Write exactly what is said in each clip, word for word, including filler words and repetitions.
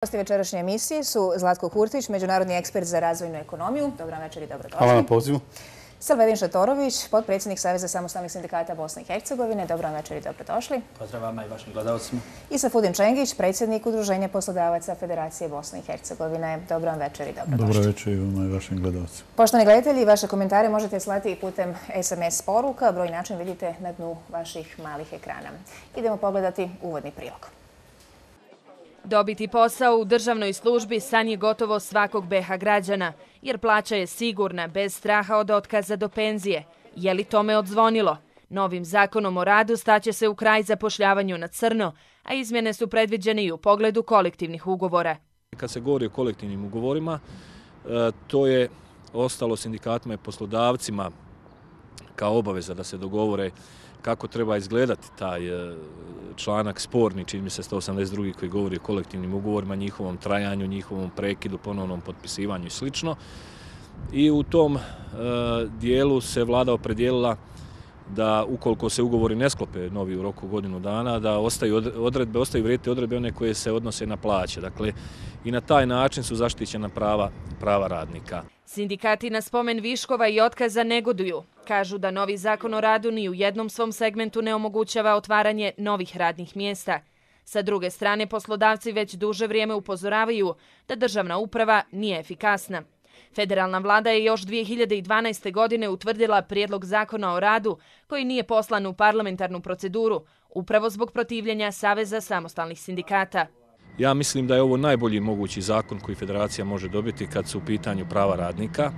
Gosti večerašnje emisije su Zlatko Kurtić, međunarodni ekspert za razvojnu ekonomiju. Dobro večer i dobrodošli. Hvala na pozivu. Salvedin Šatorović, potpredsjednik Saveza samostalnih sindikata Bosne i Hercegovine. Dobro večer i dobrodošli. Pozdrav vama i vašim gledalcima. I Safudin Čengić, predsjednik Udruženja poslodavaca Federacije Bosne i Hercegovine. Dobro večer i dobrodošli. Dobro večer i vama i vašim gledalcima. Poštovani gledatelji, vaše komentare možete slati putem es em es poruka. Broj i način vidite na dnu vaših malih ekrana. Idemo pogledati uvodni prilog. Dobiti posao u državnoj službi san je gotovo svakog be ha građana, jer plaća je sigurna, bez straha od otkaza do penzije. Je li tome odzvonilo? Novim zakonom o radu staće se u kraj zapošljavanju na crno, a izmjene su predviđene i u pogledu kolektivnih ugovora. Kad se govori o kolektivnim ugovorima, to je ostalo sindikatima i poslodavcima kao obaveza da se dogovore kako treba izgledati taj članak sporni, čini mi se sto osamdeset drugi koji govori o kolektivnim ugovorima, njihovom trajanju, njihovom prekidu, ponovnom potpisivanju i sl. I u tom dijelu se vlada opredijelila da ukoliko se ugovori ne sklope novi u roku godinu dana, da ostaju odredbe, ostaju vrijediti odredbe one koje se odnose na plaće. Dakle, i na taj način su zaštićena prava, prava radnika. Sindikati na spomen viškova i otkaza negoduju. Kažu da novi zakon o radu ni u jednom svom segmentu ne omogućava otvaranje novih radnih mjesta. Sa druge strane, poslodavci već duže vrijeme upozoravaju da državna uprava nije efikasna. Federalna vlada je još dvije hiljade dvanaeste. godine utvrdila prijedlog zakona o radu koji nije poslan u parlamentarnu proceduru, upravo zbog protivljenja Saveza samostalnih sindikata. Ja mislim da je ovo najbolji mogući zakon koji federacija može dobiti kad su u pitanju prava radnika.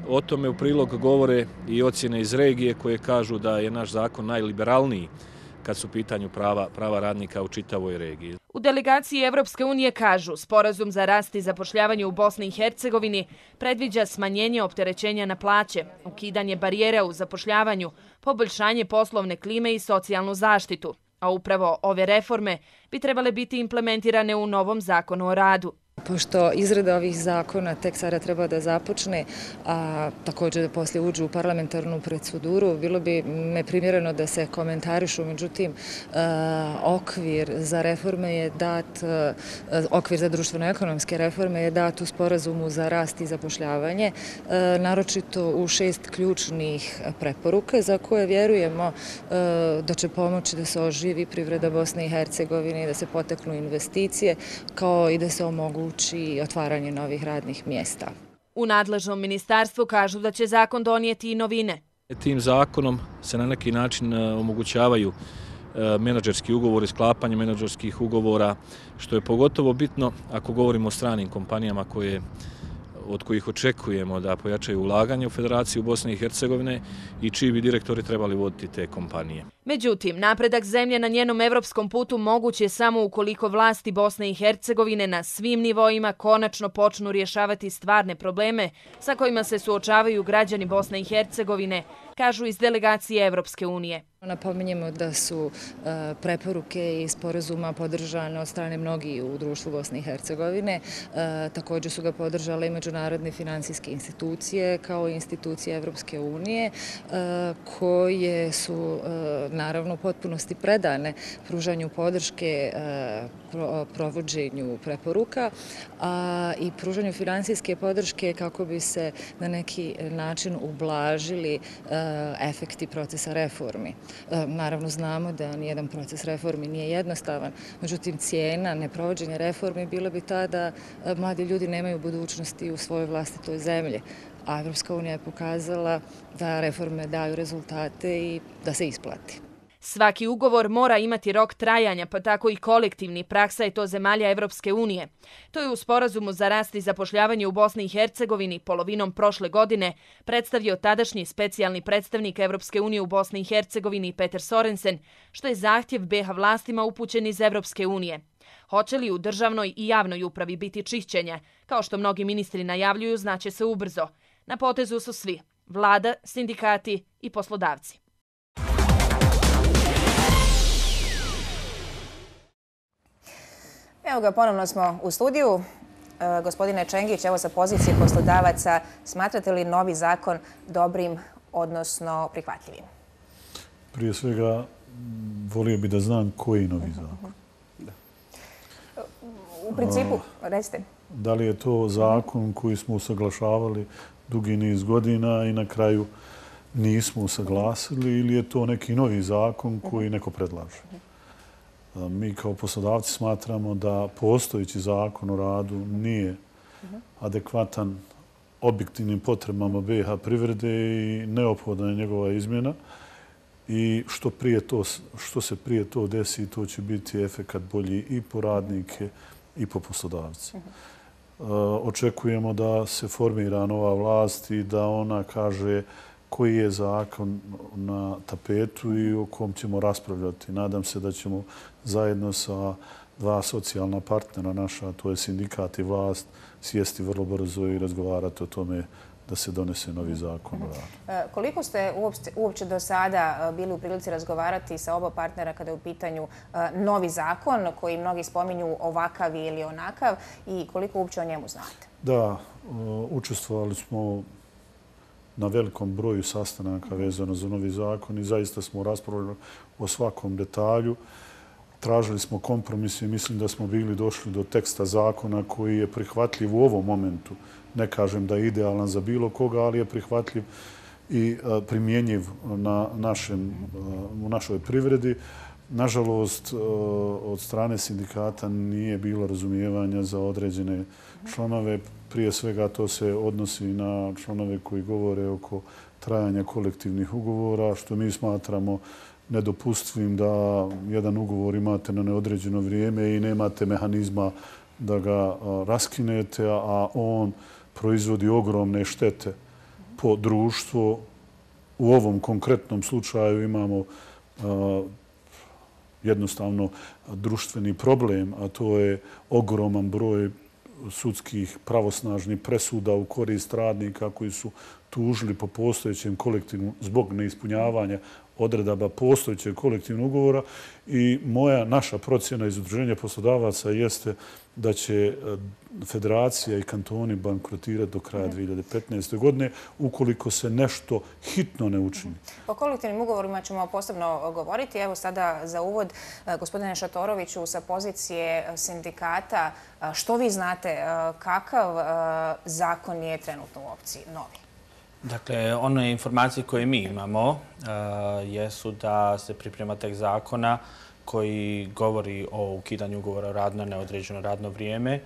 O tome u prilog govore i ocjene iz regije koje kažu da je naš zakon najliberalniji kad su u pitanju prava, prava radnika u čitavoj regiji. U delegaciji Evropske unije kažu sporazum za rast i zapošljavanje u Bosni i Hercegovini predviđa smanjenje opterećenja na plaće, ukidanje barijera u zapošljavanju, poboljšanje poslovne klime i socijalnu zaštitu. A upravo ove reforme bi trebale biti implementirane u novom zakonu o radu. Pošto izrada ovih zakona tek sada treba da započne, a također da poslije uđu u parlamentarnu proceduru, bilo bi neprimjereno da se komentarišu, međutim, okvir za reforme je dat, okvir za društveno-ekonomske reforme je dat u sporazumu za rast i zapošljavanje, naročito u šest ključnih preporuka za koje vjerujemo da će pomoći da se oživi privreda Bosne i Hercegovine, da se poteknu investicije, kao i da se omogući i otvaranje novih radnih mjesta. U nadležnom ministarstvu kažu da će zakon donijeti i novine. Tim zakonom se na neki način omogućavaju menadžerski ugovori, sklapanje menadžerskih ugovora, što je pogotovo bitno ako govorimo o stranim kompanijama koje od kojih očekujemo da pojačaju ulaganje u Federaciju Bosne i Hercegovine i čiji bi direktori trebali voditi te kompanije. Međutim, napredak zemlje na njenom evropskom putu moguć je samo ukoliko vlasti Bosne i Hercegovine na svim nivoima konačno počnu rješavati stvarne probleme sa kojima se suočavaju građani Bosne i Hercegovine, kažu iz delegacije Evropske unije. Napominjemo da su preporuke i sporazuma podržane od strane mnogih u društvu Bosne i Hercegovine. Također su ga podržale i međunarodne finansijske institucije kao i institucije Evropske unije koje su naravno u potpunosti predane pružanju podrške provođenju preporuka i pružanju finansijske podrške kako bi se na neki način ublažili efekti procesa reformi. Naravno znamo da nijedan proces reformi nije jednostavan, međutim cijena neprovođenja reformi bila bi ta da mladi ljudi nemaju budućnosti u svojoj vlastitoj zemlji. A Evropska unija je pokazala da reforme daju rezultate i da se isplati. Svaki ugovor mora imati rok trajanja, pa tako i kolektivni, praksa je to zemalja Evropske unije. To je u sporazumu za rast i zapošljavanje u Bosni i Hercegovini polovinom prošle godine predstavio tadašnji specijalni predstavnik Evropske unije u Bosni i Hercegovini Peter Sorensen, što je zahtjev be ha vlastima upućen iz Evropske unije. Hoće li u državnoj i javnoj upravi biti čišćenja? Kao što mnogi ministri najavljuju, znaće se ubrzo. Na potezu su svi, vlada, sindikati i poslodavci. Evo ga, ponovno smo u studiju. E, gospodine Čengić, evo sa pozicije poslodavaca, smatrate li novi zakon dobrim, odnosno prihvatljivim? Prije svega, volio bi da znam koji novi zakon. u principu, recite. Da li je to zakon koji smo usaglašavali dugi niz godina i na kraju nismo usaglasili ili je to neki novi zakon koji neko predlaže? Mi kao poslodavci smatramo da postojeći zakon o radu nije adekvatan objektivnim potrebama B iH privrede i neophodna je njegova izmjena. I što, prije to, što se prije to desi, to će biti efekat bolji i po radnike i po poslodavci. Očekujemo da se formira nova vlast i da ona kaže koji je zakon na tapetu i o kom ćemo raspravljati. Nadam se da ćemo zajedno sa dva socijalna partnera naša, to je sindikat i vlast, sjesti vrlo brzo i razgovarati o tome da se donese novi zakon o radu. Koliko ste uopće do sada bili u prilici razgovarati sa oba partnera kada je u pitanju novi zakon koji mnogi spominju ovakav ili onakav i koliko uopće o njemu znate? Da, učestvovali smo na velikom broju sastanaka vezano za novi zakon i zaista smo raspravljali o svakom detalju. Tražili smo kompromis i mislim da smo bili došli do teksta zakona koji je prihvatljiv u ovom momentu. Ne kažem da je idealan za bilo koga, ali je prihvatljiv i primjenjiv na našem, u našoj privredi. Nažalost, od strane sindikata nije bilo razumijevanja za određene članove. Prije svega to se odnosi na članove koji govore oko trajanja kolektivnih ugovora, što mi smatramo nedopustivim da jedan ugovor imate na neodređeno vrijeme i nemate mehanizma da ga raskinete, a on proizvodi ogromne štete po društvu. U ovom konkretnom slučaju imamo jednostavno društveni problem, a to je ogroman broj sudskih pravosnažnih presuda u korist radnika koji su tužili po postojećem kolektivnom zbog neispunjavanja odredaba postojećeg kolektivnog ugovora i moja, naša procjena iz Udruženja poslodavaca jeste da će federacija i kantoni bankrotirati do kraja dvije hiljade petnaeste. godine ukoliko se nešto hitno ne učini. O kolektivnim ugovorima ćemo posebno govoriti. Evo sada za uvod, gospodine Šatoroviću, sa pozicije sindikata, što vi znate, kakav zakon je trenutno u opciji, novi? Dakle, one informacije koje mi imamo jesu da se priprema tekst zakona koji govori o ukidanju ugovora o radu na neodređeno radno vrijeme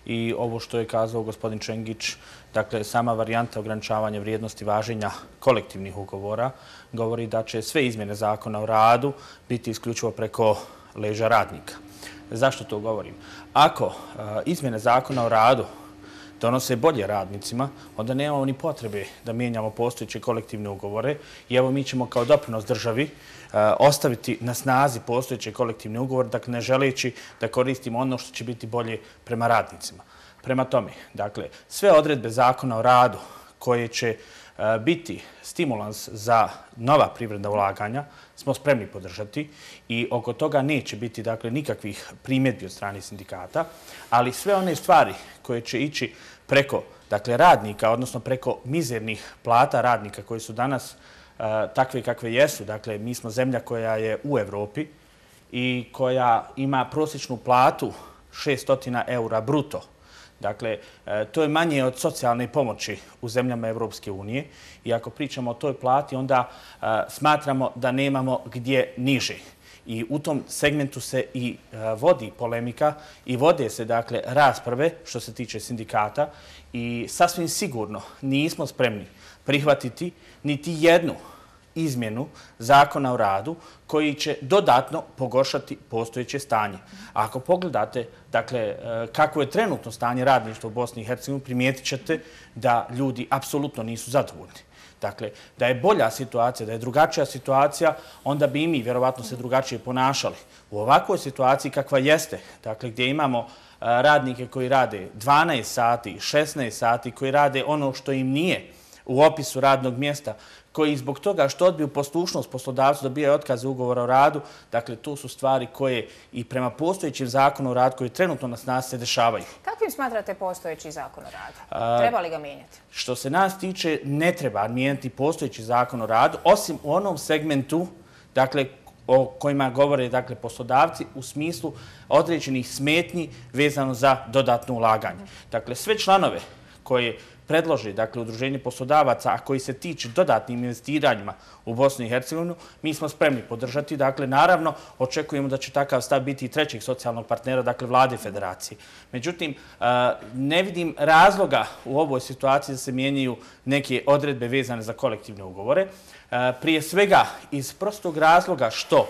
i ovo što je kazao gospodin Čengić, dakle, sama varijanta ograničavanja vrijednosti važenja kolektivnih ugovora govori da će sve izmjene zakona o radu biti isključivo preko leđa radnika. Zašto to govorim? Ako izmjene zakona o radu donose bolje radnicima, onda nemamo ni potrebe da mijenjamo postojeće kolektivne ugovore i evo mi ćemo kao doprinos državi ostaviti na snazi postojeće kolektivne ugovore, dakle ne želeći da koristimo ono što će biti bolje prema radnicima. Prema tome, dakle, sve odredbe zakona o radu koje će biti stimulans za nova privredna ulaganja smo spremni podržati i oko toga neće biti, dakle, nikakvih primjedbi od strane sindikata, ali sve one stvari koje će ići preko, dakle, radnika, odnosno preko mizernih plata radnika koji su danas takve kakve jesu. Dakle, mi smo zemlja koja je u Evropi i koja ima prosječnu platu šesto eura bruto. Dakle, to je manje od socijalne pomoći u zemljama Evropske unije i ako pričamo o toj plati, onda smatramo da nemamo gdje niže. I u tom segmentu se i vodi polemika i vode se, dakle, rasprave što se tiče sindikata i sasvim sigurno nismo spremni prihvatiti niti jednu izmjenu zakona o radu koji će dodatno pogoršati postojeće stanje. Ako pogledate, dakle, kako je trenutno stanje radništva u Bosni i Hercegovini, primijetit ćete da ljudi apsolutno nisu zadovoljni. Dakle, da je bolja situacija, da je drugačija situacija, onda bi i mi vjerovatno se drugačije ponašali. U ovakvoj situaciji kakva jeste, dakle, gdje imamo radnike koji rade dvanaest sati, šesnaest sati, koji rade ono što im nije u opisu radnog mjesta, koji zbog toga što odbiju poslušnost poslodavcu dobijaju otkaze ugovora o radu, dakle, to su stvari koje i prema postojećim zakonu o radu koji trenutno na snazi se dešavaju. Kakvim smatrate postojeći zakon o radu? Treba li ga mijenjati? Što se nas tiče, ne treba mijenjati postojeći zakon o radu, osim u onom segmentu, dakle, o kojima govore dakle, poslodavci u smislu određenih smetnji vezano za dodatno ulaganje. Dakle, sve članove koje predloži dakle, Udruženje poslodavaca, a koji se tiče dodatnim investiranjima u Bosnu i Hercegovinu, mi smo spremni podržati. Dakle, naravno, očekujemo da će takav stav biti i trećeg socijalnog partnera, dakle, Vlade Federacije. Međutim, ne vidim razloga u ovoj situaciji da se mijenjaju neke odredbe vezane za kolektivne ugovore. Prije svega, iz prostog razloga što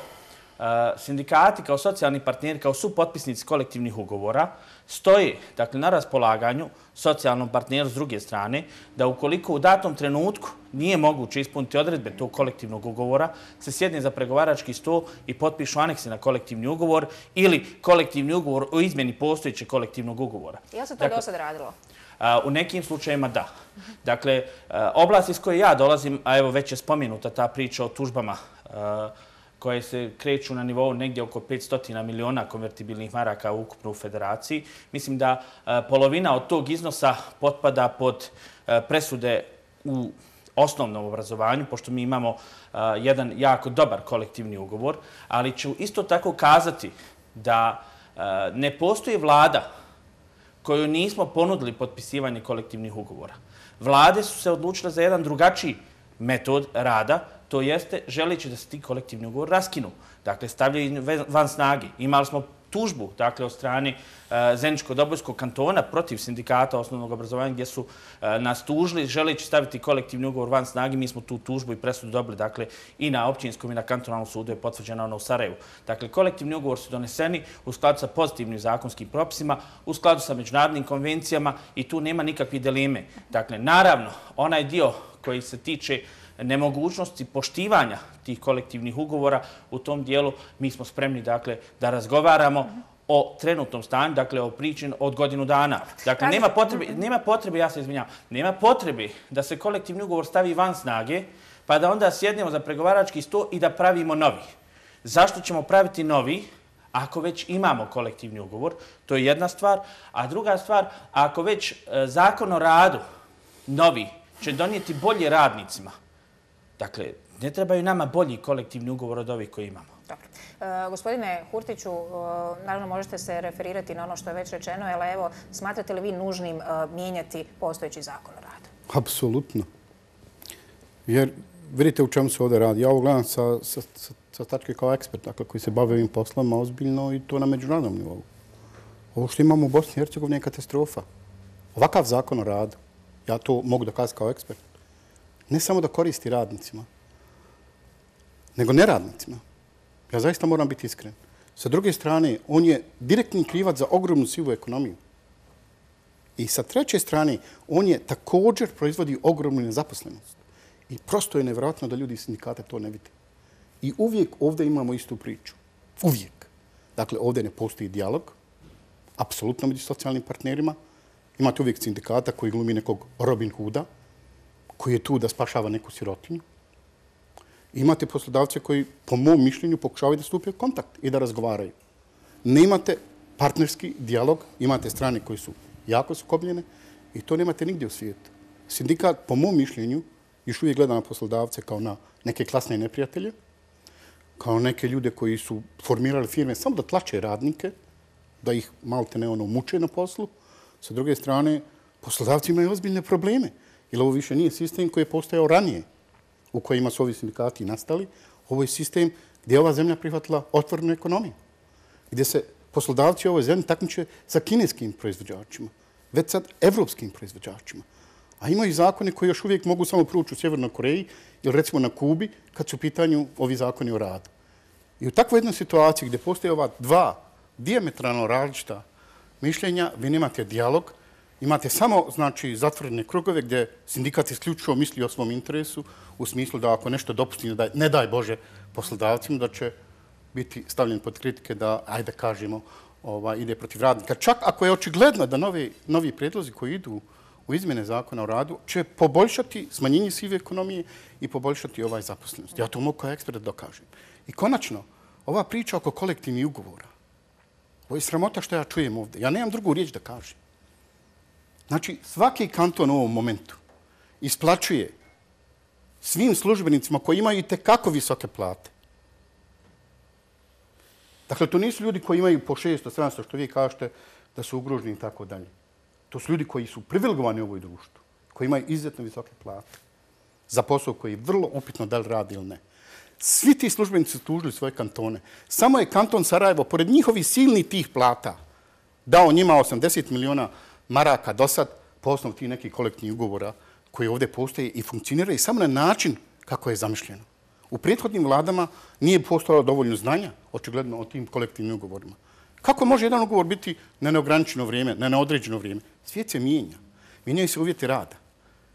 sindikati kao socijalni partneri, kao supotpisnici kolektivnih ugovora, stoje dakle, na raspolaganju socijalnom partneru s druge strane, da ukoliko u datom trenutku nije moguće ispuniti odredbe tog kolektivnog ugovora, se sjedne za pregovarački stol i potpišu aneksi na kolektivni ugovor ili kolektivni ugovor o izmjeni postojećeg kolektivnog ugovora. Je li se to do sad radilo? U nekim slučajima da. Dakle, oblast iz koje ja dolazim, a evo već je spomenuta ta priča o tužbama koje se kreću na nivou negdje oko petsto miliona konvertibilnih maraka ukupno u federaciji. Mislim da polovina od tog iznosa potpada pod presude u osnovnom obrazovanju, pošto mi imamo jedan jako dobar kolektivni ugovor, ali ću isto tako kazati da ne postoji vlada koju nismo ponudili potpisivanje kolektivnih ugovora. Vlade su se odlučile za jedan drugačiji metod rada, to jeste želeći da se ti kolektivni ugovor raskinu. Dakle, stavljaju van snage. Imali smo tužbu dakle, od strane Zeničko-Dobojskog kantona protiv sindikata osnovnog obrazovanja gdje su nas tužili želeći staviti kolektivni ugovor van snage. Mi smo tu tužbu i presudu dobili dakle, i na općinskom i na kantonalnom sudu je potvrđena ona u Sarajevu. Dakle, kolektivni ugovor su doneseni u skladu sa pozitivnim zakonskim propisima, u skladu sa međunarodnim konvencijama i tu nema nikakve dileme. Dakle, naravno, onaj dio koji se tiče nemogućnosti poštivanja tih kolektivnih ugovora, u tom dijelu mi smo spremni dakle, da razgovaramo o trenutnom stanju, dakle o priči od godinu dana. Dakle, nema potrebe, nema potrebe, ja se izvinjam, nema potrebe da se kolektivni ugovor stavi van snage, pa da onda sjednemo za pregovarački sto i da pravimo novi. Zašto ćemo praviti novi ako već imamo kolektivni ugovor? To je jedna stvar. A druga stvar, ako već zakon o radu novi će donijeti bolje radnicima, dakle, ne trebaju nama bolji kolektivni ugovor od ovih koji imamo. Dobro. E, gospodine Hurtiću, e, naravno možete se referirati na ono što je već rečeno, ali evo, smatrate li vi nužnim e, mijenjati postojeći zakon o radu? Apsolutno. Jer vidite u čemu se ovdje radi. Ja ovo gledam sa, sa, sa, sa tačke kao ekspert, dakle, koji se bave ovim poslama ozbiljno i to na međunarodnom nivou. Ovo što imamo u Bosni i Hercegovini je katastrofa. Ovakav zakon o radu, ja to mogu da kažem kao ekspert, ne samo da koristi radnicima, nego neradnicima. Ja zaista moram biti iskren. Sa druge strane, on je direktni krivac za ogromnu sivu ekonomiju. I sa treće strane, on je također proizvodi ogromnu nezaposlenost. I prosto je nevjerojatno da ljudi iz sindikata to ne vide. I uvijek ovdje imamo istu priču. Uvijek. Dakle, ovdje ne postoji dijalog, apsolutno među socijalnim partnerima. Imate uvijek sindikata koji glumi nekog Robin Hooda, koji je tu da spašava neku sirotinju. Imate poslodavce koji, po mom mišljenju, pokušavaju da stupe u kontakt i da razgovaraju. Nemate partnerski dijalog, imate strane koji su jako sukobljene i to nemate nigdje u svijetu. Sindikat, po mom mišljenju, još uvijek gleda na poslodavce kao na neke klasne neprijatelje, kao neke ljude koji su formirali firme samo da tlače radnike, da ih malte ne ono muče na poslu. Sa druge strane, poslodavci imaju ozbiljne probleme. Jer ovo više nije sistem koji je postojao ranije, u kojima su ovi sindikati nastali. Ovo je sistem gdje je ova zemlja prihvatila otvorenu ekonomiju, gdje se poslodavci u ovoj zemlji takmiče sa kineskim proizvođačima, već sad evropskim proizvođačima. A imaju zakone koji još uvijek mogu samo proći u Sjevernoj Koreji ili recimo na Kubi kad su u pitanju ovi zakoni o radu. I u takvoj jednoj situaciji gdje postoje ova dva dijametralno različita mišljenja, vi nemate dijalog, imate samo znači, zatvorene krugove gdje sindikat isključivo misli o svom interesu u smislu da ako nešto dopusti, ne daj, ne daj Bože poslodavcima, da će biti stavljen pod kritike da, ajde kažemo, ova, ide protiv radnika. Čak ako je očigledno da novi, novi predlozi koji idu u izmjene zakona o radu će poboljšati smanjenje sive ekonomije i poboljšati ovaj zaposlenost. Ja to mogu kao ekspert da dokažem. I konačno, ova priča oko kolektivnih ugovora, ovo je sramota što ja čujem ovdje. Ja nemam drugu riječ da kažem. Znači, svaki kanton u ovom momentu isplaćuje svim službenicima koji imaju i tekako visoke plate Dakle, to nisu ljudi koji imaju po šesto, sedamsto, što vi kažete, da su ugroženi i tako dalje. To su ljudi koji su privilegovani u ovoj društvu, koji imaju izuzetno visoke plate za posao koji je vrlo upitno da li radi ili ne. Svi ti službenici su tužili svoje kantone. Samo je kanton Sarajevo, pored njihovih silnih tih plata, dao njima osamdeset miliona maraka do sad po osnovu tih nekih kolektivnih ugovora koji ovdje postoje i funkcioniraju samo na način kako je zamišljeno. U prethodnim vladama nije postojalo dovoljno znanja, očigledno, o tim kolektivnim ugovorima. Kako može jedan ugovor biti na neograničeno vrijeme, na neodređeno vrijeme? Svijet se mijenja. Mijenjaju se uvjeti rada.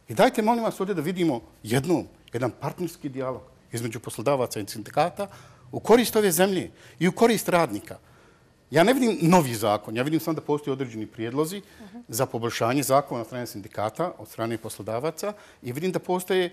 I dajte, molim vas, ovdje da vidimo jednom, jedan partnerski dijalog između poslodavaca i sindikata u korist ove zemlje i u korist radnika. Ja ne vidim novi zakon, ja vidim samo da postoji određeni prijedlozi za poboljšanje zakona od strane sindikata, od strane poslodavaca i vidim da postoje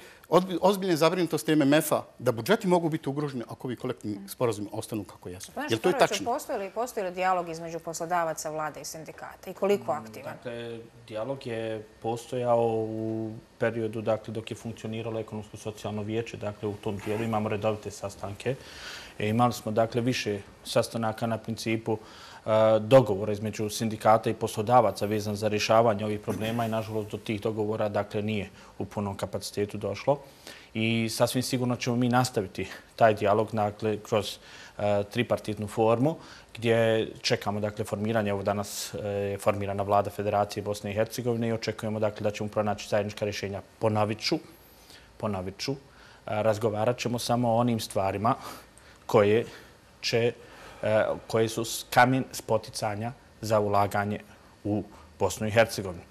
ozbiljne zabrinutosti M M F-a da budžeti mogu biti ugroženi ako ovi kolektivni sporazumi ostanu kako jesu. Jel to je tačno? Postoji li dijalog između poslodavaca, vlade i sindikata i koliko aktivan? Dakle, dijalog je postojao u periodu dakle, dok je funkcioniralo ekonomsko-socijalno vijeće. Dakle, u tom dijelu imamo redovite sastanke. E, imali smo dakle više sastanaka na principu uh, dogovora između sindikata i poslodavaca vezan za rješavanje ovih problema i nažalost do tih dogovora dakle nije u punom kapacitetu došlo. I sasvim sigurno ćemo mi nastaviti taj dijalog dakle, kroz uh, tripartitnu formu gdje čekamo dakle, formiranje. Evo danas je formirana vlada Federacije Bosne i Hercegovine i očekujemo dakle, da ćemo pronaći zajednička rješenja. Ponovit ću, ponovit ću, uh, razgovarat ćemo samo o onim stvarima koje, će, koje su kamen spoticanja za ulaganje u Bosnu i Hercegovinu.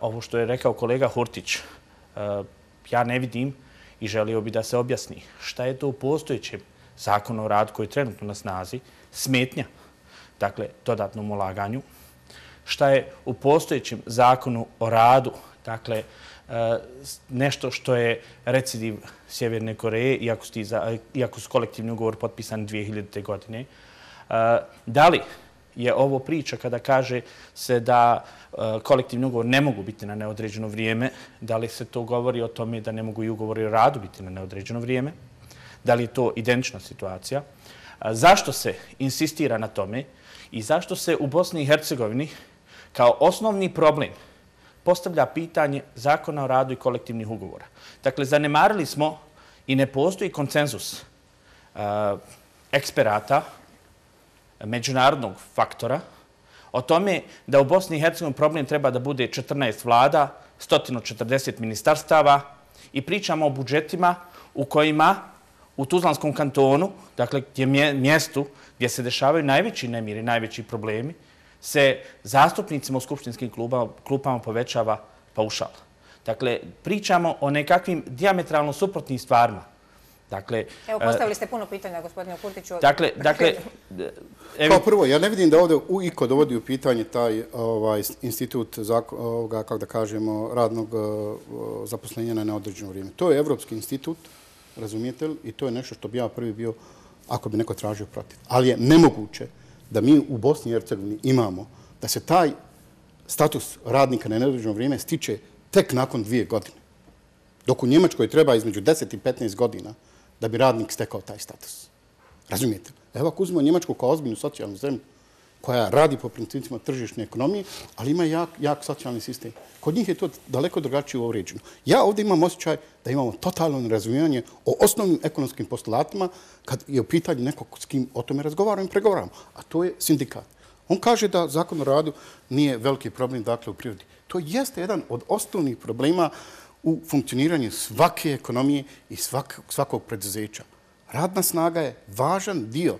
Ovo što je rekao kolega Hurtić, ja ne vidim i želio bi da se objasni šta je to u postojećem zakonu o radu koji je trenutno na snazi smetnja, dakle, dodatnom ulaganju, šta je u postojećem zakonu o radu, dakle, nešto što je recidiv Sjeverne Koreje, iako su, iako su kolektivni ugovor potpisani dvije hiljadite. godine. Da li je ovo priča kada kaže se da kolektivni ugovor ne mogu biti na neodređeno vrijeme? Da li se to govori o tome da ne mogu i ugovori o radu biti na neodređeno vrijeme? Da li je to identična situacija? Zašto se insistira na tome i zašto se u Bosni i Hercegovini kao osnovni problem postavlja pitanje zakona o radu i kolektivnih ugovora? Dakle, zanemarili smo i ne postoji konsenzus uh, eksperata, međunarodnog faktora, o tome da u Bosni i Hercegovini problem treba da bude četrnaest vlada, sto četrdeset ministarstava i pričamo o budžetima u kojima u Tuzlanskom kantonu, dakle gdje mjestu gdje se dešavaju najveći nemiri, najveći problemi, se zastupnicima u skupštinskim klubama, klupama povećava paušal. Dakle, pričamo o nekakvim dijametralno suprotnim stvarima. Dakle, evo, postavili ste puno pitanja, gospodine Kurtiću. Dakle, dakle... Evo... Kao prvo, ja ne vidim da ovdje iko dovodi u pitanje taj ovaj, institut ovoga, kako da kažemo, radnog zaposlenja na neodređeno vrijeme. To je evropski institut, razumijete li? I to je nešto što bi ja prvi bio, ako bi neko tražio protiv. Ali je nemoguće da mi u Bosni i Hercegovini imamo da se taj status radnika na neodređeno vrijeme stiče tek nakon dvije godine. Dok u Njemačkoj treba između deset i petnaest godina da bi radnik stekao taj status. Razumijete? Evo ako uzmemo Njemačku kao ozbiljnu socijalnu zemlju koja radi po principima tržišne ekonomije, ali ima jak, jak socijalni sistem. Kod njih je to daleko drugačije uređeno. Ja ovdje imam osjećaj da imamo totalno nerazumijevanje o osnovnim ekonomskim postulatima kad je u pitanju nekog s kim o tome razgovaramo i pregovaramo, a to je sindikat. On kaže da zakon o radu nije veliki problem dakle, u prirodi. To jeste jedan od osnovnih problema u funkcioniranju svake ekonomije i svak, svakog preduzeća. Radna snaga je važan dio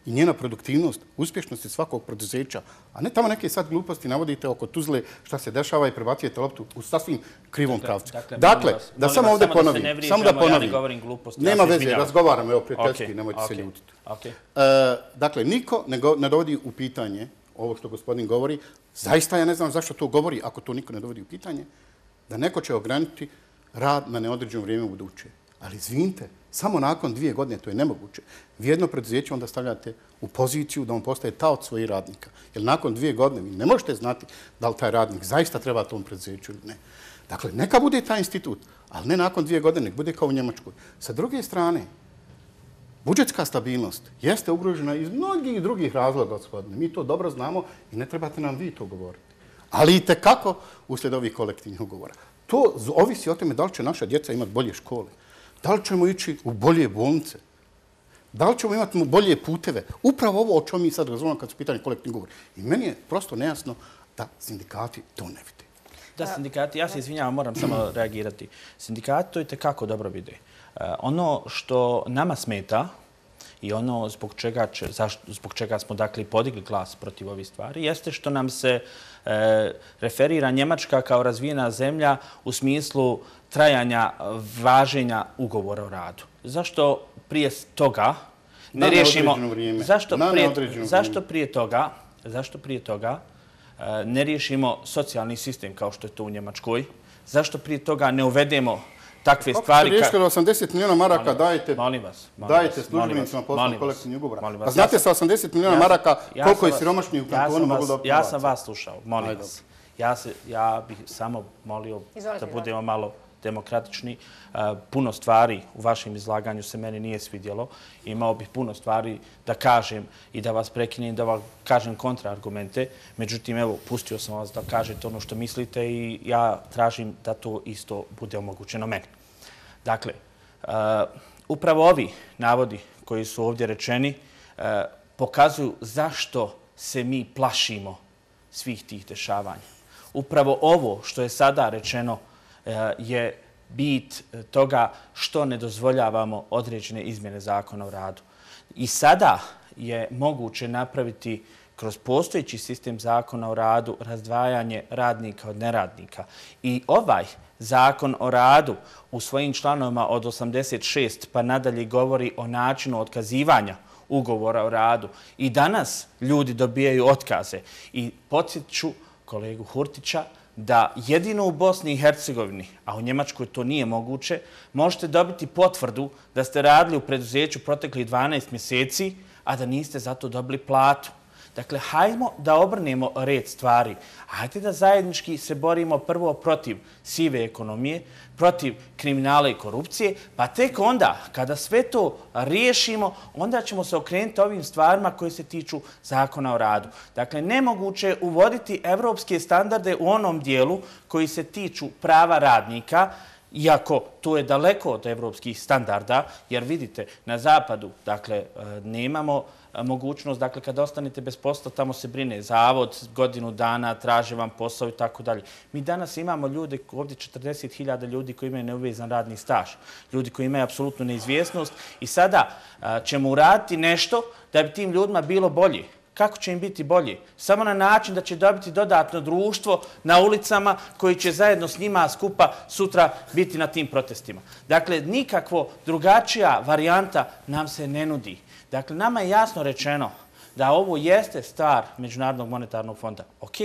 i njena produktivnost, uspješnosti svakog preduzeća, a ne tamo neke sad gluposti navodite oko Tuzle šta se dešava i prebacujete loptu u sasvim krivom pravcu. Dakle, dakle vas, da samo ovdje ponovim. Da samo da ponovim. Ja ne gluposti, nema ja veze, razgovaram, evo prijateljski, okay, nemojte okay, se ljutiti. Okay. E, dakle, niko ne, go, ne dovodi u pitanje ovo što gospodin govori. Zaista ja ne znam zašto to govori, ako to niko ne dovodi u pitanje, da neko će ograničiti rad na neodređeno vrijeme u buduće. Ali izvinite, samo nakon dvije godine to je nemoguće. Vi jedno preduzeće onda stavljate u poziciju da on postaje taoc svojih radnika. Jer nakon dvije godine vi ne možete znati da li taj radnik zaista treba tom preduzeću ili ne. Dakle, neka bude taj institut, ali ne nakon dvije godine, nek bude kao u Njemačkoj. Sa druge strane, budžetska stabilnost jeste ugrožena iz mnogih drugih razloga, gospodine. Mi to dobro znamo i ne trebate nam vi to govoriti. Ali i tekako uslijed ovih kolektivnih ugovora. To ovisi o tome da li će naša djeca imati bolje škole, da li ćemo ići u bolje bolnice, da li ćemo imati bolje puteve. Upravo ovo o čemu mi sad razumemo kad su pitanje kolektivnih ugovora. I meni je prosto nejasno da sindikati to ne vide. Da, sindikati, ja se izvinjavam, moram samo reagirati. Sindikati to i tekako dobro vide. Ono što nama smeta i ono zbog čega, zbog čega smo dakle podigli glas protiv ovih stvari jeste što nam se e, referira Njemačka kao razvijena zemlja u smislu trajanja važenja ugovora o radu. Zašto prije toga ne riješimo... Zašto prije, zašto prije toga, zašto prije toga e, ne riješimo socijalni sistem kao što je to u Njemačkoj? Zašto prije toga ne uvedemo takve stvari... Kako ste riješili osamdeset milijuna maraka dajete, molim vas, molim dajete službenicima poslovnog kolektivnih ugovora? A znate sa osamdeset milijuna maraka koliko je siromašnih u kantonu mogu da opnovaca? Ja sam vas slušao, molim vas. Ja, se, ja bih samo molio da budemo malo demokratični. Puno stvari u vašem izlaganju se meni nije svidjelo. Imao bih puno stvari da kažem i da vas prekinem, da vam kažem kontraargumente. Međutim, evo, pustio sam vas da kažete ono što mislite i ja tražim da to isto bude omogućeno meni. Dakle, upravo ovi navodi koji su ovdje rečeni pokazuju zašto se mi plašimo svih tih dešavanja. Upravo ovo što je sada rečeno je bit toga što ne dozvoljavamo određene izmjene zakona o radu. I sada je moguće napraviti kroz postojeći sistem zakona o radu razdvajanje radnika od neradnika. I ovaj zakon o radu u svojim članovima od osamdeset šest pa nadalje govori o načinu otkazivanja ugovora o radu. I danas ljudi dobijaju otkaze. I podsjeću kolegu Hurtića da jedino u Bosni i Hercegovini, a u Njemačkoj to nije moguće, možete dobiti potvrdu da ste radili u preduzeću proteklih dvanaest mjeseci, a da niste zato dobili platu. Dakle, hajmo da obrnemo red stvari. Hajde da zajednički se borimo prvo protiv sive ekonomije, protiv kriminala i korupcije, pa tek onda, kada sve to riješimo, onda ćemo se okrenuti ovim stvarima koje se tiču zakona o radu. Dakle, nemoguće je uvoditi evropske standarde u onom dijelu koji se tiču prava radnika, iako to je daleko od evropskih standarda, jer vidite, na zapadu, dakle, nemamo mogućnost, dakle, kada ostanete bez posla, tamo se brine zavod, godinu dana, traže vam posao i tako dalje. Mi danas imamo ljude, ovdje četrdeset hiljada ljudi koji imaju neuvezan radni staž, ljudi koji imaju apsolutnu neizvjesnost i sada ćemo uraditi nešto da bi tim ljudima bilo bolje. Kako će im biti bolje? Samo na način da će dobiti dodatno društvo na ulicama koji će zajedno s njima skupa sutra biti na tim protestima. Dakle, nikakvo drugačija varijanta nam se ne nudi. Dakle, nama je jasno rečeno da ovo jeste stvar Međunarodnog monetarnog fonda. Ok.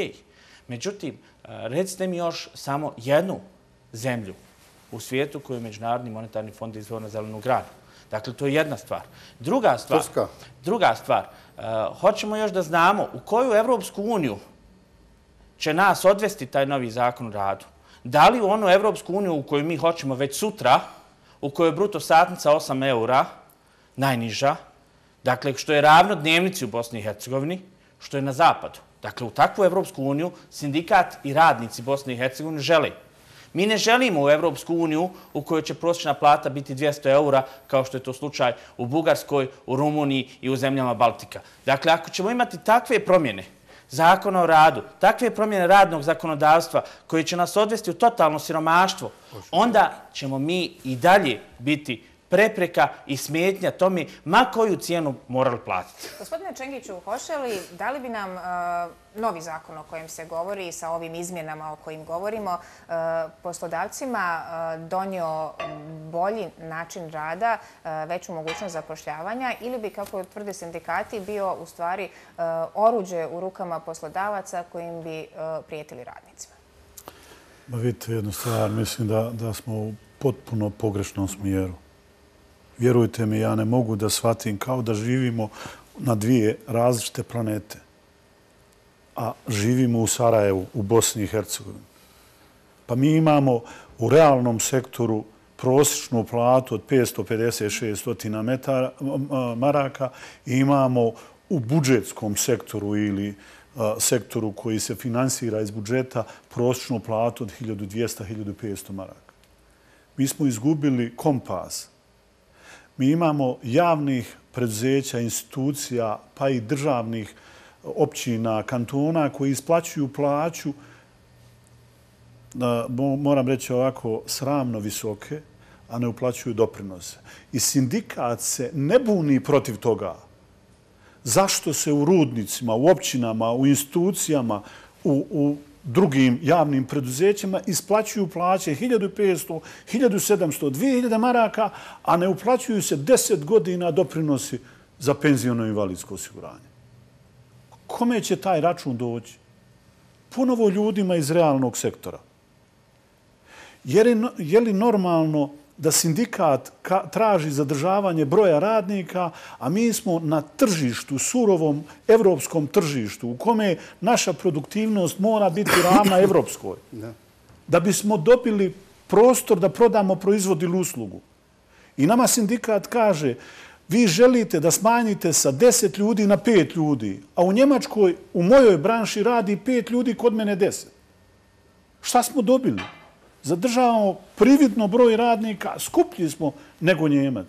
Međutim, recite mi još samo jednu zemlju u svijetu koju je Međunarodni monetarni fond izveo na zelenu granu. Dakle, to je jedna stvar. Druga stvar, druga stvar, hoćemo još da znamo u koju Evropsku uniju će nas odvesti taj novi zakon o radu. Da li u onu Evropsku uniju u koju mi hoćemo već sutra, u kojoj je bruto satnica osam eura, najniža, dakle, što je ravno dnevnici u Bosni i Hercegovini, što je na zapadu. Dakle, u takvu Evropsku uniju sindikat i radnici Bosne i Hercegovine žele. Mi ne želimo u Evropsku uniju u kojoj će prosječna plata biti dvjesto eura, kao što je to slučaj u Bugarskoj, u Rumuniji i u zemljama Baltika. Dakle, ako ćemo imati takve promjene zakona o radu, takve promjene radnog zakonodavstva koje će nas odvesti u totalno siromaštvo, onda ćemo mi i dalje biti prepreka i smetnja tome ma koju cijenu morali platiti. Gospodine Čengiću, hoće li, da li bi nam novi zakon o kojem se govori sa ovim izmjenama o kojim govorimo poslodavcima donio bolji način rada, veću mogućnost zapošljavanja ili bi, kako tvrde sindikati, bio u stvari oruđe u rukama poslodavaca kojim bi prijetili radnicima? Ba vidite jednu stvar, mislim da, da smo u potpuno pogrešnom smjeru. Vjerujte mi, ja ne mogu da shvatim kao da živimo na dvije različite planete. A živimo u Sarajevu, u Bosni i Hercegovini. Pa mi imamo u realnom sektoru prosječnu platu od petsto pedeset do šesto maraka i imamo u budžetskom sektoru ili sektoru koji se finansira iz budžeta prosječnu platu od hiljadu dvjesto do hiljadu petsto maraka. Mi smo izgubili kompas. Mi imamo javnih preduzeća, institucija, pa i državnih općina, kantona koji isplaćuju plaću, moram reći ovako, sramno visoke, a ne uplaćuju doprinose. I sindikat se ne buni protiv toga. Zašto se u rudnicima, u općinama, u institucijama, u, u drugim javnim preduzećima isplaćuju plaće hiljadu petsto, hiljadu sedamsto, dvije hiljade maraka, a ne uplaćuju se deset godina doprinosi za penziono i invalidsko osiguranje? Kome će taj račun doći? Ponovo ljudima iz realnog sektora. Je li normalno da sindikat traži zadržavanje broja radnika, a mi smo na tržištu, surovom evropskom tržištu, u kome naša produktivnost mora biti ravna evropskoj, da bismo dobili prostor da prodamo proizvod ili uslugu. I nama sindikat kaže, vi želite da smanjite sa deset ljudi na pet ljudi, a u Njemačkoj, u mojoj branši radi pet ljudi, kod mene deset. Šta smo dobili? Zadržavamo prividno broj radnika, skuplji smo nego Njemac.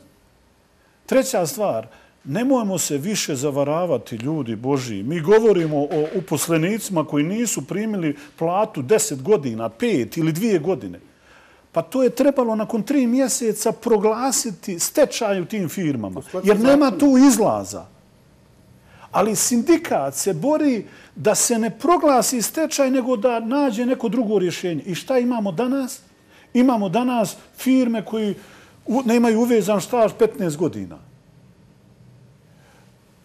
Treća stvar, nemojmo se više zavaravati, ljudi Božji. Mi govorimo o uposlenicima koji nisu primili platu deset godina, pet ili dvije godine. Pa to je trebalo nakon tri mjeseca proglasiti stečaj u tim firmama, jer nema tu izlaza. Ali sindikat se bori da se ne proglasi stečaj, nego da nađe neko drugo rješenje. I šta imamo danas? Imamo danas firme koji nemaju uvezan staž petnaest godina.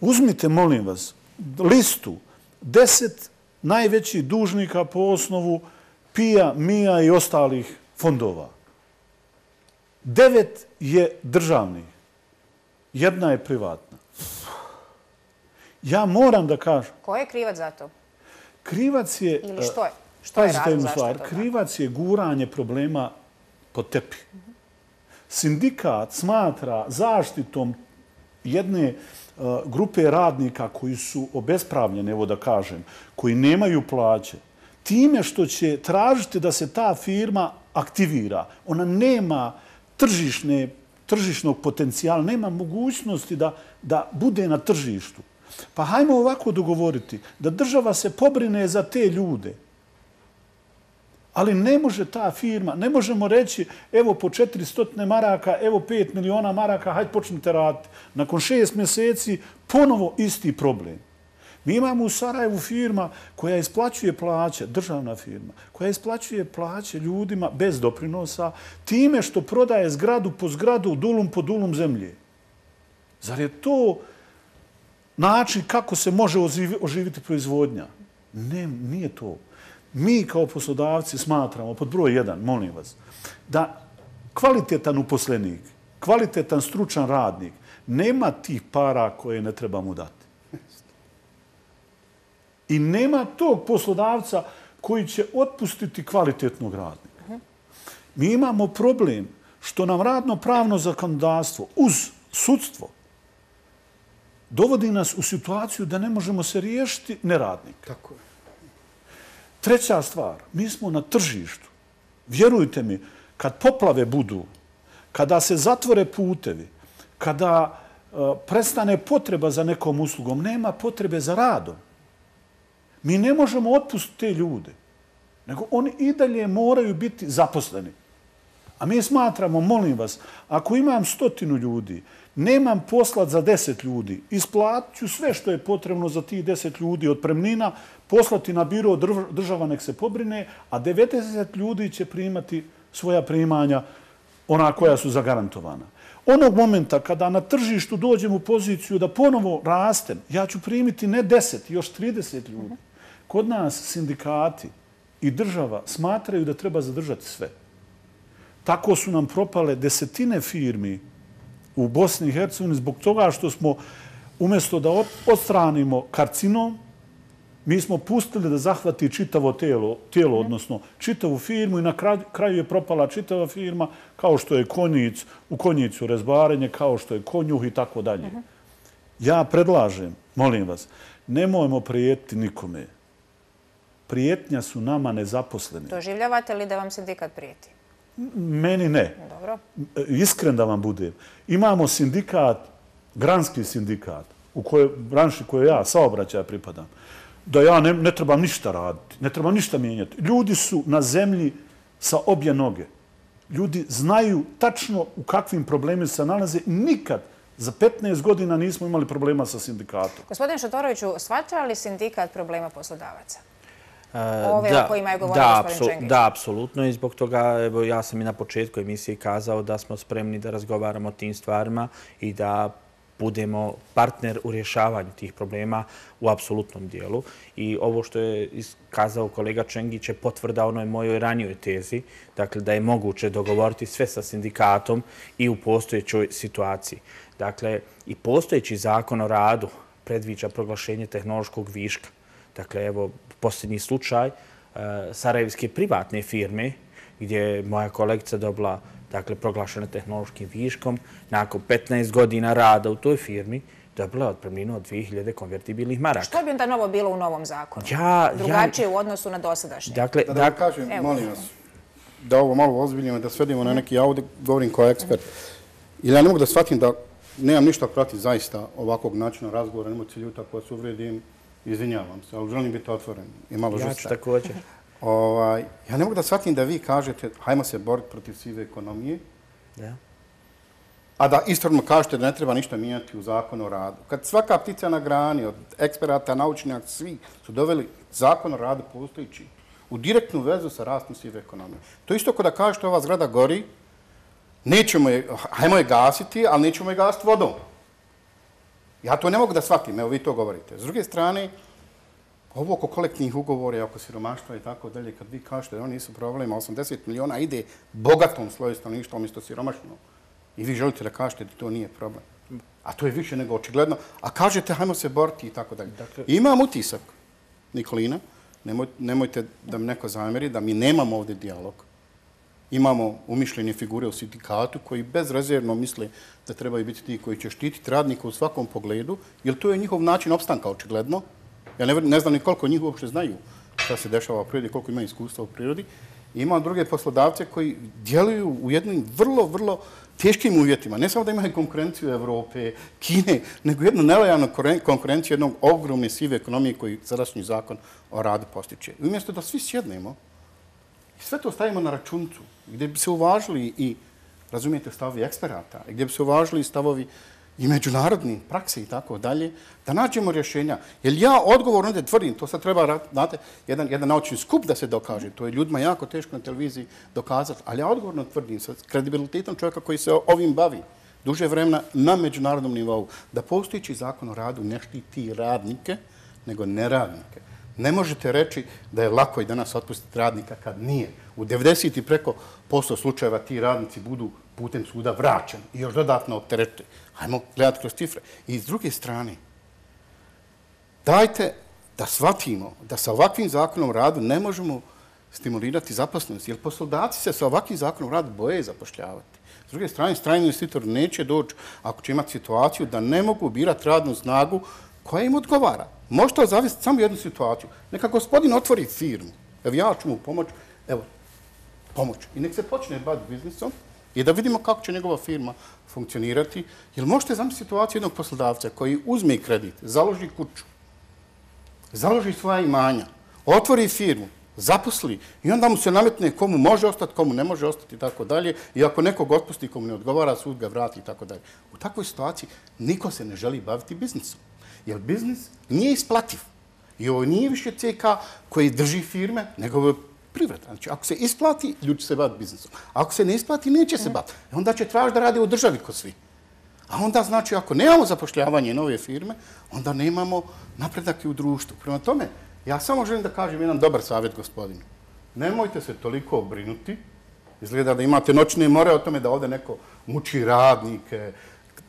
Uzmite, molim vas, listu deset najvećih dužnika po osnovu P I A, M I A i ostalih fondova. Devet je državnih, jedna je privatna. Ja moram da kažem... Ko je krivac za to? Krivac je... Ili što je? Što je razlog zašto je to? Krivac je guranje problema pod tepih. Sindikat smatra zaštitom jedne grupe radnika koji su obespravljeni, evo da kažem, koji nemaju plaće, time što će tražiti da se ta firma aktivira. Ona nema tržišne, tržišnog potencijala, nema mogućnosti da, da bude na tržištu. Pa hajmo ovako dogovoriti da država se pobrine za te ljude. Ali ne može ta firma, ne možemo reći evo po četiristo maraka, evo pet miliona maraka, hajde počnite raditi. Nakon šest mjeseci ponovo isti problem. Mi imamo u Sarajevu firma koja isplaćuje plaće, državna firma, koja isplaćuje plaće ljudima bez doprinosa time što prodaje zgradu po zgradu, dulum po dulum zemlje. Zar je to način kako se može oživiti proizvodnja? Ne, nije to. Mi kao poslodavci smatramo, pod broj jedan, molim vas, da kvalitetan uposlenik, kvalitetan stručan radnik nema tih para koje ne treba mu dati. I nema tog poslodavca koji će otpustiti kvalitetnog radnika. Mi imamo problem što nam radno-pravno zakonodavstvo uz sudstvo dovodi nas u situaciju da ne možemo se riješiti neradnika. Tako je. Treća stvar, mi smo na tržištu. Vjerujte mi, kad poplave budu, kada se zatvore putevi, kada uh, prestane potreba za nekom uslugom, nema potrebe za radom. Mi ne možemo otpustiti te ljude, nego oni i dalje moraju biti zaposleni. A mi smatramo, molim vas, ako imam stotinu ljudi, nemam poslat za deset ljudi, isplatit ću sve što je potrebno za tih deset ljudi od premnina, poslati na biro, država nek se pobrine, a devedeset ljudi će primati svoja primanja, ona koja su zagarantovana. Onog momenta kada na tržištu dođem u poziciju da ponovo rastem, ja ću primiti ne deset, još trideset ljudi. Kod nas sindikati i država smatraju da treba zadržati sve. Tako su nam propale desetine firmi u Bosni i Hercegovini zbog toga što smo umjesto da odstranimo karcinom, Mi smo pustili da zahvati čitavo tijelo, tijelo odnosno čitavu firmu i na kraju je propala čitava firma kao što je konjic, u konjicu rezbarenje, kao što je konjuh i tako dalje. Ja predlažem, molim vas, nemojmo prijetiti nikome. Prijetnja su nama nezaposleni. Doživljavate li da vam sindikat prijeti? Meni ne. Dobro. Iskren da vam budem. Imamo sindikat, granski sindikat, u kojoj branši koje ja saobraćaja pripadam, da ja ne, ne trebam ništa raditi, ne trebam ništa mijenjati. Ljudi su na zemlji sa obje noge. Ljudi znaju tačno u kakvim problemima se nalaze. Nikad za petnaest godina nismo imali problema sa sindikatom. Gospodine Šotoroviću, shvaća li sindikat problema poslodavaca? Ove da, o kojima je govorio da, gospodin Čengić. Da, apsolutno. I zbog toga evo, ja sam i na početku emisije kazao da smo spremni da razgovaramo o tim stvarima i da budemo partner u rješavanju tih problema u apsolutnom dijelu. I ovo što je kazao kolega Čengić je potvrda onoj mojoj ranijoj tezi, dakle da je moguće dogovoriti sve sa sindikatom i u postojećoj situaciji. Dakle, i postojeći zakon o radu predviđa proglašenje tehnološkog viška. Dakle, evo, posljednji slučaj sarajevske privatne firme gdje je moja kolegica dobila dakle, proglašena tehnološkim viškom, nakon petnaest godina rada u toj firmi, dobila je otpremninu od dvije hiljade konvertibilnih maraka. Što bi onda novo bilo u novom zakonu? Ja, Drugačije ja, u odnosu na dosadašnje? Dakle, da, da vam kažem, evo, molim vas, da ovo malo ozbiljimo, da svedimo na neki, ja ovdje govorim kao ekspert. Ili ja ne mogu da shvatim da nemam ništa protiv zaista ovakvog načina razgovora, nemoj se ljuta koja se uvrijedim, izvinjavam se, ali želim biti otvoren i malo žustak. Ja ću također. Ovaj, ja ne mogu da shvatim da vi kažete hajmo se boriti protiv sive ekonomije, da. A da istovremeno kažete da ne treba ništa mijenjati u zakonu o radu. Kad svaka ptica na grani, od eksperata, naučnjaka, svi su doveli zakon o radu postojići u direktnu vezu sa rastom sive ekonomije. To isto kao da kažete ova zgrada gori, nećemo je, hajmo je gasiti, ali nećemo je gasiti vodom. Ja to ne mogu da shvatim, evo vi to govorite. S druge strane, ovo oko kolektivnih ugovora, oko siromaštva i tako dalje, kad vi kažete da oni nisu problema, osamdeset miliona ide bogatom sloju stanovništva umjesto siromašnom. I vi želite da kažete da to nije problem. A to je više nego očigledno. A kažete hajmo se boriti i tako dalje. Imam utisak, Nikolina, nemoj, nemojte da mi neko zamjeri, da mi nemamo ovdje dijalog. Imamo umišljene figure u sindikatu koji bezrezervno misle da trebaju biti ti koji će štititi radnika u svakom pogledu, jer to je njihov način opstanka očigledno. Ja ne, ne znam ni koliko njih uopšte znaju šta se dešava u prirodi, koliko imaju iskustva u prirodi. I imam druge poslodavce koji djeluju u jednim vrlo, vrlo teškim uvjetima. Ne samo da imaju konkurenciju Evrope, Kine, nego jednu nelojalnu konkurenciju jednog ogromne sive ekonomije koji sadašnji zakon o radu postiče. I umjesto da svi sjednemo i sve to stavimo na računcu, gdje bi se uvažili i, razumijete, stavovi eksperata, gdje bi se uvažili stavovi i međunarodni prakse i tako dalje, da nađemo rješenja. Jer ja odgovorno ovdje tvrdim, to sad treba, znate, jedan, jedan naučni skup da se dokaže, to je ljudima jako teško na televiziji dokazati, ali ja odgovorno tvrdim sa kredibilitetom čovjeka koji se ovim bavi duže vremena na međunarodnom nivou, da postojići zakon o radu ne štiti radnike, nego neradnike. Ne možete reći da je lako i danas otpustiti radnika kad nije. U devedeset i preko posto slučajeva ti radnici budu putem suda vraćeni i još dodatno opteretiti. Hajmo gledati kroz cifre. I s druge strane, dajte da shvatimo da sa ovakvim zakonom o radu ne možemo stimulirati zaposlenost, jer poslodavci se sa ovakvim zakonom o radu boje zapošljavati. S druge strane, strani investitor neće doći ako će imati situaciju da ne mogu birati radnu snagu koja im odgovara. Možete zavesti samo jednu situaciju. Neka gospodin otvori firmu. Evo ja ću mu pomoći. Evo, pomoć. I nek se počne baviti biznisom i da vidimo kako će njegova firma funkcionirati. Jer možete zamisliti situaciju jednog poslodavca koji uzme kredit, založi kuću, založi svoja imanja, otvori firmu, zaposli i onda mu se nametne komu može ostati, komu ne može ostati i tako dalje. I ako nekog otpusti, komu ne odgovara, sud ga vrati i tako dalje. U takvoj situaciji niko se ne želi baviti biznisom. Jer biznis nije isplativ. I ovo nije više C K koji drži firme, nego ovo je privreda. Znači, ako se isplati, ljudi će se baviti biznisom. Ako se ne isplati, neće se baviti. Onda će tražiti da radi u državi ko svi. A onda, znači, ako nemamo zapošljavanje nove firme, onda nemamo napredak i u društvu. Prema tome, ja samo želim da kažem jedan dobar savjet gospodinu. Nemojte se toliko obrinuti. Izgleda da imate noćne more o tome da ovdje neko muči radnike,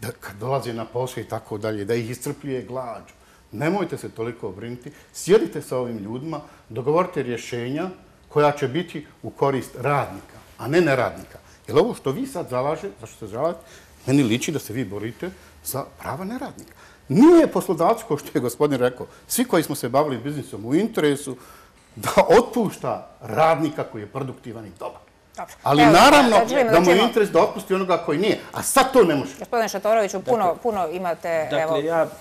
da kad dolaze na posao i tako dalje, da ih iscrpljuje glađu. nemojte se toliko brinuti, sjedite sa ovim ljudima, dogovorite rješenja koja će biti u korist radnika, a ne neradnika. Jer ovo što vi sad zalažete, zašto se zalažete, meni liči da se vi borite za prava neradnika. Nije poslodavac, kao što je gospodin rekao, svi koji smo se bavili biznisom u interesu, da otpušta radnika koji je produktivan i dobar. Ali naravno da mu je interes da otpusti onoga koji nije. A sad to ne može. Gospodine Šatoroviću, puno imate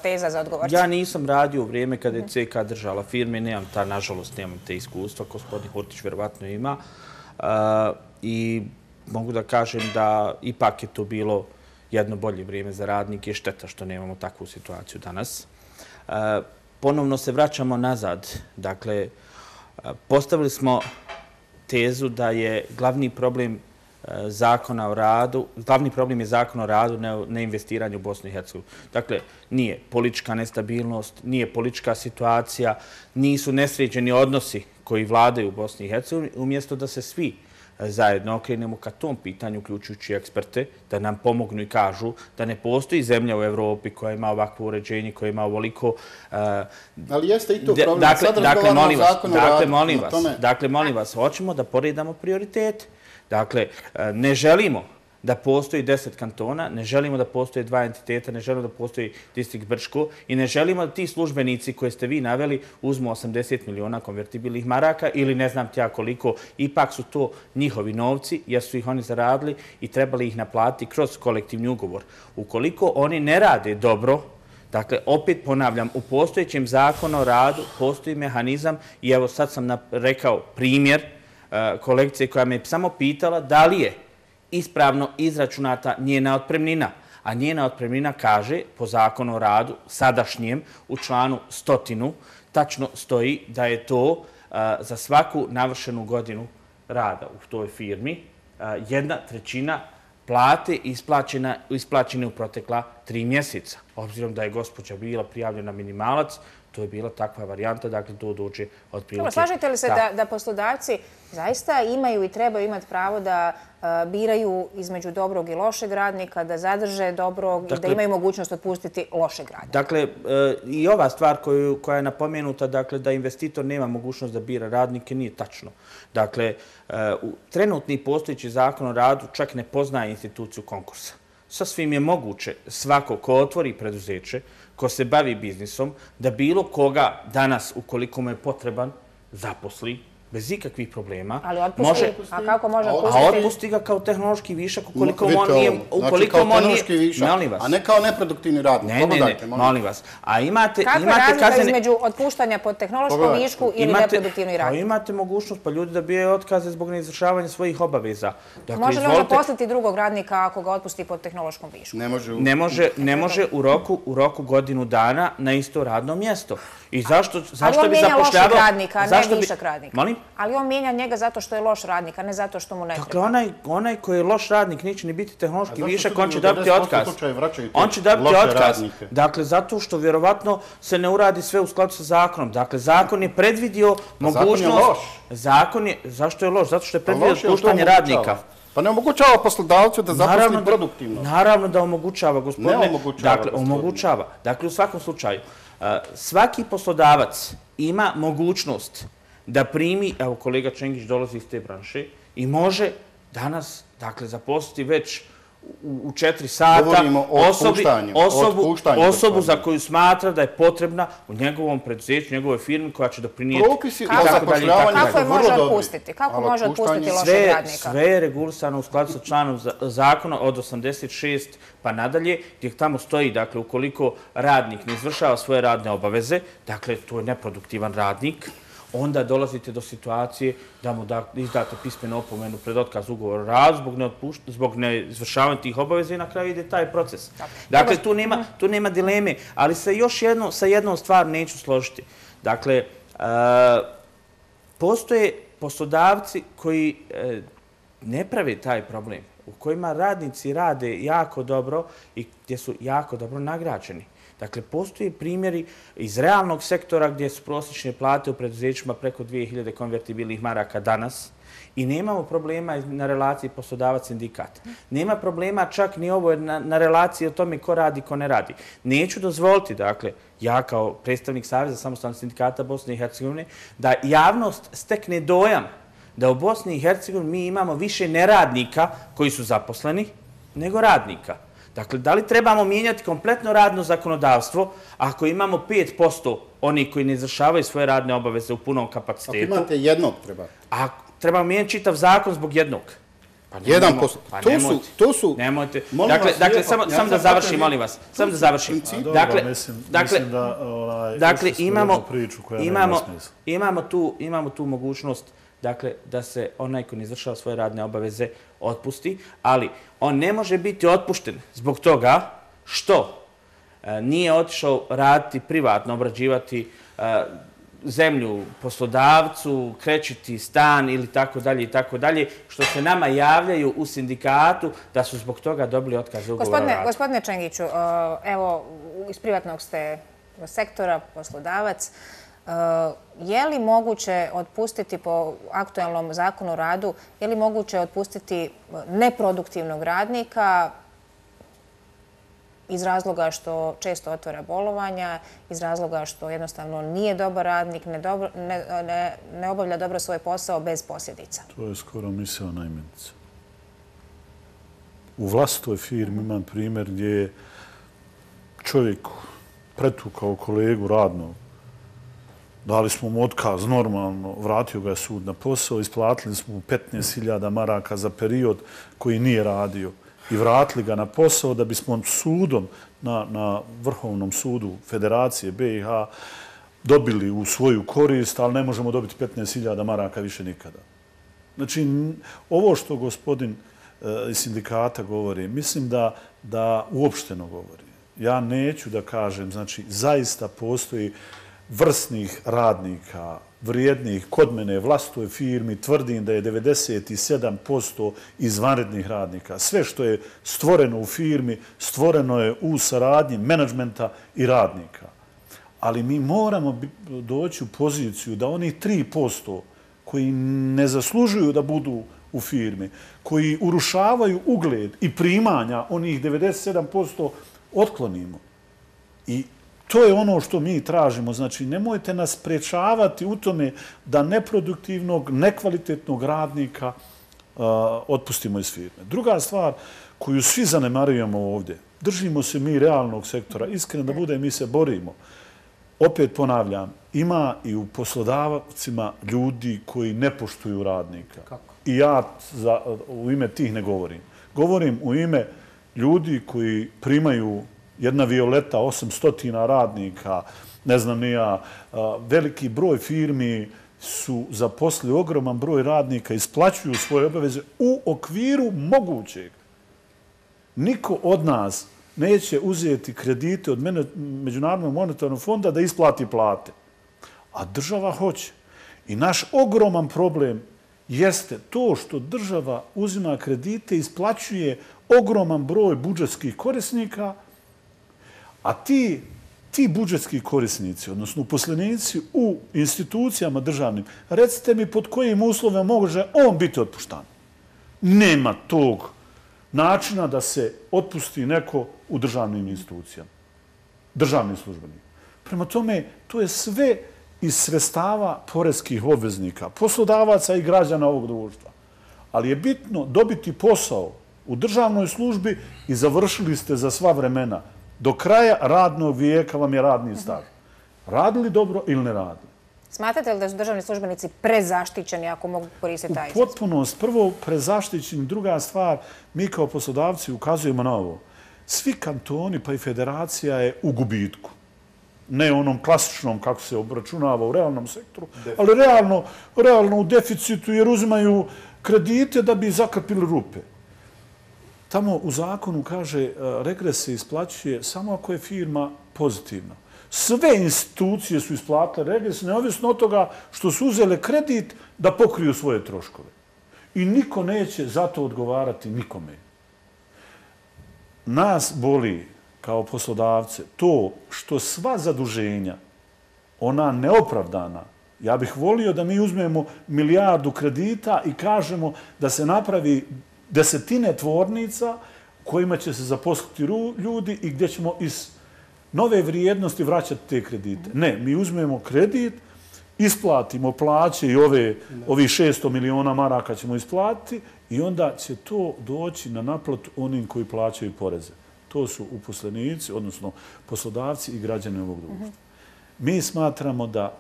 teza za odgovor. Ja nisam radio u vrijeme kada je C K držala firme, nemam ta, nažalost, nemam te iskustva, gospodin Hortić verovatno ima. I mogu da kažem da ipak je to bilo jedno bolje vrijeme za radnike. Šteta što nemamo takvu situaciju danas. Ponovno se vraćamo nazad. Dakle, postavili smo tezu da je glavni problem zakona o radu, glavni problem je zakon o radu, ne investiranje u Bosnu i Hercegovinu. Dakle, nije politička nestabilnost, nije politička situacija, nisu nesređeni odnosi koji vladaju u Bosni i Hercegovini, umjesto da se svi zajedno okrenemo ka tom pitanju, uključujući eksperte, da nam pomognu i kažu da ne postoji zemlja u Evropi koja ima ovakvo uređenje, koja ima ovoliko... Ali jeste i to problem. Sad razgovaramo o zakonu o radu. Dakle, molim vas, dakle, molim vas, hoćemo da poredamo prioritete. Dakle, ne želimo da postoji deset kantona, ne želimo da postoje dva entiteta, ne želimo da postoji distrikt Brčko i ne želimo da ti službenici koje ste vi naveli uzmu osamdeset miliona konvertibilnih maraka ili ne znam tja koliko, ipak su to njihovi novci jer su ih oni zaradili i trebali ih naplatiti kroz kolektivni ugovor. Ukoliko oni ne rade dobro, dakle, opet ponavljam, u postojećem zakonu o radu postoji mehanizam i evo sad sam rekao primjer kolegice koja me samo pitala da li je ispravno izračunata njena otpremnina. A njena otpremnina kaže, po zakonu o radu, sadašnjem, u članu stotinu, tačno stoji da je to za svaku navršenu godinu rada u toj firmi jedna trećina plate isplaćene u protekla tri mjeseca. Obzirom da je gospođa bila prijavljena minimalac, to je bila takva varijanta, dakle to dođe od prilike. Slažete li se da poslodavci zaista imaju i trebaju imati pravo da biraju između dobrog i lošeg radnika, da zadrže dobrog i da imaju mogućnost otpustiti lošeg radnika? Dakle, i ova stvar koja je napomenuta, dakle, da investitor nema mogućnost da bira radnike, nije tačno. Dakle, trenutni postojeći zakon o radu čak ne poznaje instituciju konkursa. Sasvim je moguće svako ko otvori preduzeće, ko se bavi biznisom, da bilo koga danas, ukoliko mu je potreban, zaposli bez ikakvih problema. Ali otpusti, a kako može otpustiti? A otpusti ga kao tehnološki višak ukoliko on nije... Znači kao tehnološki višak, a ne kao neproduktivni radnik. Ne, ne, ne, molim vas. A imate... Kakva je razlika između otpuštanja pod tehnološkom višku ili neproduktivni radnik? Imate mogućnost pa ljudi da bijaju otkaze zbog neizvršavanja svojih obaveza. Može li on zaposliti drugog radnika ako ga otpusti pod tehnološkom višku? Ne može. Ne može u roku godinu dana na isto radno mjesto. I zašto bi zapošljavao... Ali on mijenja lošeg radnika, a ne višak radnika. Molim? Ali on mijenja njega zato što je loš radnik, a ne zato što mu ne treba. Dakle, onaj koji je loš radnik neće ni biti tehnološki višak, on će dobiti otkaz. On će dobiti otkaz. Dakle, zato što vjerovatno se ne uradi sve u skladu sa zakonom. Dakle, zakon je predvidio mogućnost... Zakon je loš. Zakon je... Zašto je loš? Zato što je predvidio otpuštanje radnika. Pa ne omogućava poslodavcu da zaposli produktivno. Naravno da omogućava, gospodine. Ne omogućava. Dakle, omogućava. Dakle, u svakom slučaju, svaki poslodavac ima mogućnost da primi, evo kolega Čengić dolazi iz te branše, i može danas, dakle, zaposliti već u četiri sata osobu za koju smatra da je potrebna u njegovom preduzeću, njegove firmi koja će doprinijeti. Propisi o zapošljavanju su vrlo dobri. Kako može otpustiti? Kako može otpustiti lošeg radnika? Sve je regulisano u skladu sa članom zakona od osamdeset šest pa nadalje, gdje tamo stoji, dakle, ukoliko radnik ne izvršava svoje radne obaveze, dakle, to je neproduktivan radnik, onda dolazite do situacije da mu izdate pismenu opomenu pred otkaz ugovora o radu zbog neizvršavanja tih obaveza i na kraju ide taj proces. Dakle, tu nema dileme, ali sa jednom stvar neću složiti. Dakle, postoje poslodavci koji ne prave taj problem, u kojima radnici rade jako dobro i gdje su jako dobro nagrađeni. Dakle, postoje primjeri iz realnog sektora gdje su prosječne plate u preduzećima preko dvije hiljade konvertibilnih maraka danas i nemamo problema na relaciji poslodavac-sindikat. Nema problema čak ni ovo na, na relaciji o tome ko radi, ko ne radi. Neću dozvoliti, dakle, ja kao predstavnik Saveza samostalnih sindikata Bosne i Hercegovine, da javnost stekne dojam da u Bosni i Hercegovini mi imamo više neradnika koji su zaposleni nego radnika. Dakle, da li trebamo mijenjati kompletno radno zakonodavstvo ako imamo pet posto onih koji ne izvršavaju svoje radne obaveze u punom kapacitetu? Ako imate jednog, treba. A trebamo mijenjati čitav zakon zbog jednog? Pa jedan posto. Pa to nemojte, su, to su... Nemojte. Molim dakle, vas, dakle lijepo, samo, ja samo da završim, molim vas. Samo da završim. Dobro, Dakle, mislim, dakle, mislim da ovaj, dakle imamo, priču koja imamo, nema smisla. imamo, tu, imamo tu mogućnost dakle, da se onaj ko ne izvršava svoje radne obaveze otpusti, ali on ne može biti otpušten zbog toga što e, nije otišao raditi privatno, obrađivati e, zemlju poslodavcu, krećiti stan ili tako dalje i tako dalje, što se nama javljaju u sindikatu da su zbog toga dobili otkaz ugovora o Gospodine, radu. gospodine Čengiću, evo, iz privatnog ste sektora, poslodavac. Je li moguće otpustiti po aktualnom zakonu o radu, je li moguće otpustiti neproduktivnog radnika iz razloga što često otvara bolovanja, iz razloga što jednostavno nije dobar radnik, ne, dobro, ne, ne, ne obavlja dobro svoj posao bez posljedica? To je skoro misaona imenica. U vlastitoj firmi imam primjer gdje je čovjek pretukao kolegu radnog. Dali smo mu otkaz normalno, vratio ga je sud na posao, isplatili smo mu petnaest hiljada maraka za period koji nije radio i vratili ga na posao da bismo sudom na, na Vrhovnom sudu Federacije B i H dobili u svoju korist, ali ne možemo dobiti petnaest hiljada maraka više nikada. Znači, ovo što gospodin iz sindikata govori, mislim da, da uopšteno govori. Ja neću da kažem, znači, zaista postoji vrsnih radnika, vrijednih, kod mene vlastitoj firmi, tvrdim da je devedeset sedam posto izvanrednih radnika. Sve što je stvoreno u firmi, stvoreno je u saradnji menadžmenta i radnika. Ali mi moramo doći u poziciju da onih tri posto koji ne zaslužuju da budu u firmi, koji urušavaju ugled i primanja onih devedeset sedam posto otklonimo. I to je ono što mi tražimo. Znači, nemojte nas sprečavati u tome da neproduktivnog, nekvalitetnog radnika uh, otpustimo iz firme. Druga stvar koju svi zanemarujemo ovdje, držimo se mi realnog sektora, iskreno da bude, mi se borimo. Opet ponavljam, ima i u poslodavcima ljudi koji ne poštuju radnika. Kako? I ja za, u ime tih ne govorim. Govorim u ime ljudi koji primaju jedna Violeta, osamsto radnika, ne znam ni ja, veliki broj firmi su zaposlili ogroman broj radnika, isplaćuju svoje obaveze u okviru mogućeg. Niko od nas neće uzeti kredite od Međunarodnog monetarnog fonda da isplati plate. A država hoće. I naš ogroman problem jeste to što država uzima kredite i isplaćuje ogroman broj budžetskih korisnika, a ti, ti budžetski korisnici, odnosno uposlenici u institucijama državnim, recite mi pod kojim uslovima može on biti otpuštan. Nema tog načina da se otpusti neko u državnim institucijama, državni službenik. Prema tome, to je sve iz sredstava poreskih obveznika, poslodavaca i građana ovog društva. Ali je bitno dobiti posao u državnoj službi i završili ste za sva vremena. Do kraja radnog vijeka vam je radni staž. Radili dobro ili ne radili? Smatrate li da su državni službenici prezaštićeni ako mogu koristiti taj izraz? U potpunost. Prvo, prezaštićeni. Druga stvar, mi kao poslodavci ukazujemo na ovo. Svi kantoni pa i federacija je u gubitku. Ne onom klasičnom kako se obračunava u realnom sektoru, ali realno, realno u deficitu jer uzimaju kredite da bi zakrpili rupe. Tamo u zakonu kaže regres se isplaćuje samo ako je firma pozitivna. Sve institucije su isplatile regres, neovisno od toga što su uzele kredit da pokriju svoje troškove. I niko neće za to odgovarati nikome. Nas boli kao poslodavce, to što sva zaduženja, ona neopravdana, ja bih volio da mi uzmemo milijardu kredita i kažemo da se napravi desetine tvornica kojima će se zaposliti ljudi i gdje ćemo iz nove vrijednosti vraćati te kredite. Ne, mi uzmemo kredit, isplatimo plaće i ove, ovi šesto miliona maraka ćemo isplatiti i onda će to doći na naplatu onim koji plaćaju poreze. To su uposlenici, odnosno poslodavci i građani ovog društva. Mi smatramo da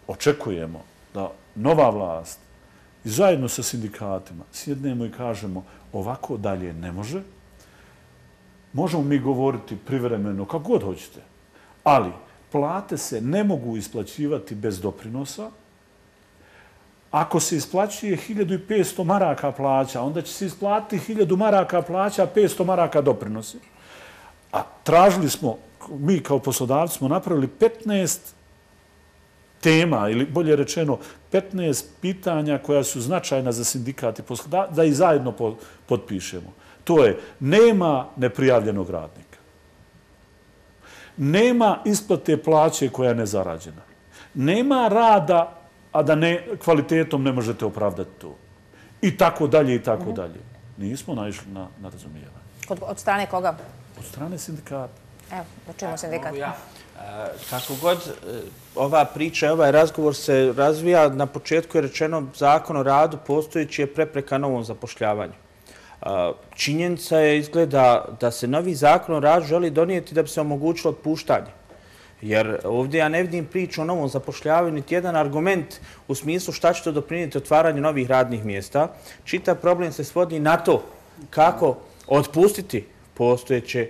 očekujemo da nova vlast i zajedno sa sindikatima sjednemo i kažemo ovako dalje ne može. Možemo mi govoriti privremeno kako god hoćete, ali plate se ne mogu isplaćivati bez doprinosa. Ako se isplaćuje hiljadu petsto maraka plaća, onda će se isplatiti hiljadu maraka plaća, petsto maraka doprinosi. A tražili smo, mi kao poslodavci smo napravili petnaest tema, ili bolje rečeno petnaest pitanja koja su značajna za sindikat i poslodavci, da ih zajedno potpišemo. To je, nema neprijavljenog radnika. Nema isplate plaće koja je nezarađena. Nema rada, a da ne, kvalitetom ne možete opravdati to. I tako dalje, i tako dalje. Nismo naišli na, na razumijevanje. Od, od strane koga? Od strane sindikata. Evo, da čujemo sindikat. Ja. Kako god ova priča i ovaj razgovor se razvija, na početku je rečeno zakon o radu postojeći je prepreka novom zapošljavanju. Činjenica je izgleda da se novi zakon o radu želi donijeti da bi se omogućilo otpuštanje. Jer ovdje ja ne vidim priču o novom zapošljavanju, niti jedan argument u smislu šta će to doprinijeti otvaranju novih radnih mjesta. Čitav problem se svodi na to kako otpustiti postojeće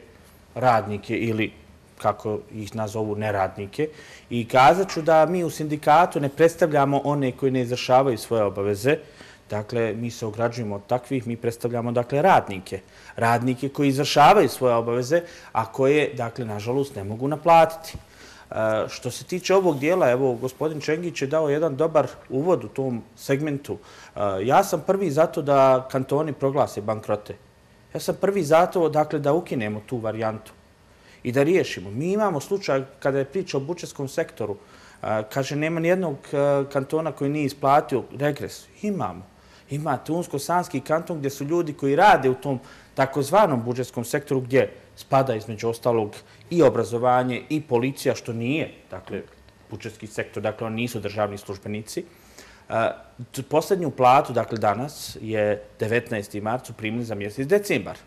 radnike ili kako ih nazovu neradnike. I kazat ću da mi u sindikatu ne predstavljamo one koji ne izvršavaju svoje obaveze. Dakle, mi se ograđujemo od takvih, mi predstavljamo, dakle, radnike. Radnike koji izvršavaju svoje obaveze, a koje, dakle, nažalost, ne mogu naplatiti. E, što se tiče ovog dijela, evo, gospodin Čengić je dao jedan dobar uvod u tom segmentu. E, ja sam prvi zato da kantoni proglase bankrote. Ja sam prvi zato, dakle, da ukinemo tu varijantu i da riješimo. Mi imamo slučaj, kada je priča o budžetskom sektoru, e, kaže, nema nijednog kantona koji nije isplatio regres. Imamo. Imate Unsko-Sanski kanton gdje su ljudi koji rade u tom takozvanom budžetskom sektoru gdje spada između ostalog i obrazovanje i policija, što nije, dakle, budžetski sektor, dakle, oni nisu državni službenici. Posljednju platu, dakle, danas je devetnaesti marcu primili za mjesec decembar.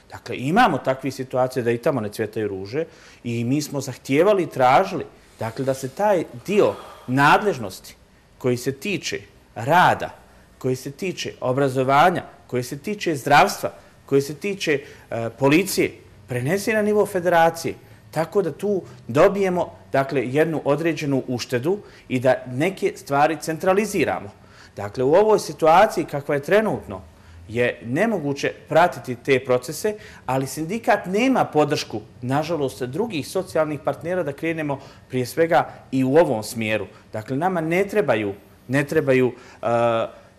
Dakle, imamo takve situacije da i tamo ne cvjetaju ruže i mi smo zahtijevali i tražili, dakle, da se taj dio nadležnosti koji se tiče rada, koji se tiče obrazovanja, koji se tiče zdravstva, koji se tiče e, policije, prenesi na nivo federacije, tako da tu dobijemo, dakle, jednu određenu uštedu i da neke stvari centraliziramo. Dakle, u ovoj situaciji kakva je trenutno, je nemoguće pratiti te procese, ali sindikat nema podršku, nažalost, drugih socijalnih partnera da krenemo prije svega i u ovom smjeru. Dakle, nama ne trebaju, ne trebaju uh,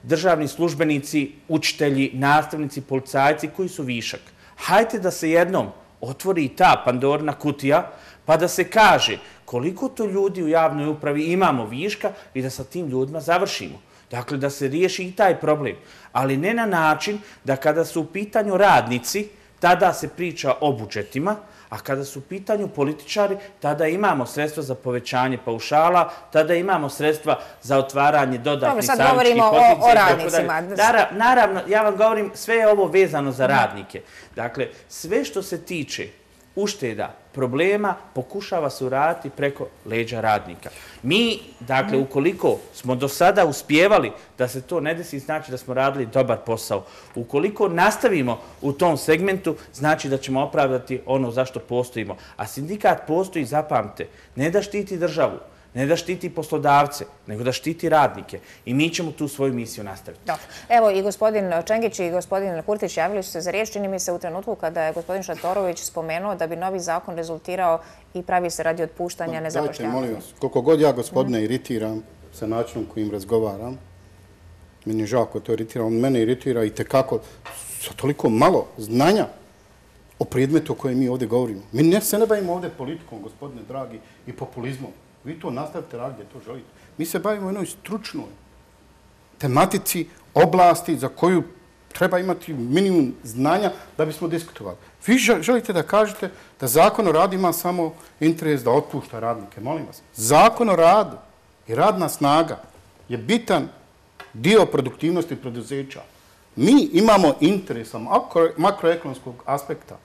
državni službenici, učitelji, nastavnici, policajci koji su višak. Hajde da se jednom otvori ta Pandorina kutija, pa da se kaže koliko to ljudi u javnoj upravi imamo viška i da sa tim ljudima završimo. Dakle, da se riješi i taj problem. Ali ne na način da kada su u pitanju radnici, tada se priča o budžetima, a kada su u pitanju političari, tada imamo sredstva za povećanje paušala, tada imamo sredstva za otvaranje dodatnih savjetskih pozicija. Dobro, sad govorimo o, o radnicima. Naravno, ja vam govorim, sve je ovo vezano za radnike. Dakle, sve što se tiče ušteda, problema, pokušava se uraditi preko leđa radnika. Mi, dakle, ukoliko smo do sada uspjevali da se to ne desi, znači da smo radili dobar posao. Ukoliko nastavimo u tom segmentu, znači da ćemo opravdati ono zašto postojimo. A sindikat postoji, zapamte, ne da štiti državu, ne da štiti poslodavce, nego da štiti radnike. I mi ćemo tu svoju misiju nastaviti. Dobro. Evo i gospodin Čengić i gospodin Kurtić javili su se za riječ. Čini mi se u trenutku kada je gospodin Šatorović spomenuo da bi novi zakon rezultirao i pravi se radi otpuštanja nezapošljavanja. Dajte, molim vas, koliko god ja gospodine iritiram sa načinom kojim razgovaram, meni je žao ko to iritira, on mene iritira i tekako sa toliko malo znanja o predmetu o kojem mi ovdje govorimo. Mi ne se ne bavimo ovdje politikom, gospodine dragi, i populizmom. Vi to nastavite raditi gdje to želite. Mi se bavimo jednoj stručnoj tematici, oblasti za koju treba imati minimum znanja da bismo diskutovali. Vi želite da kažete da Zakon o radu ima samo interes da otpušta radnike. Molim vas. Zakon o radu i radna snaga je bitan dio produktivnosti preduzeća. Mi imamo interesa makroekonomskog aspekta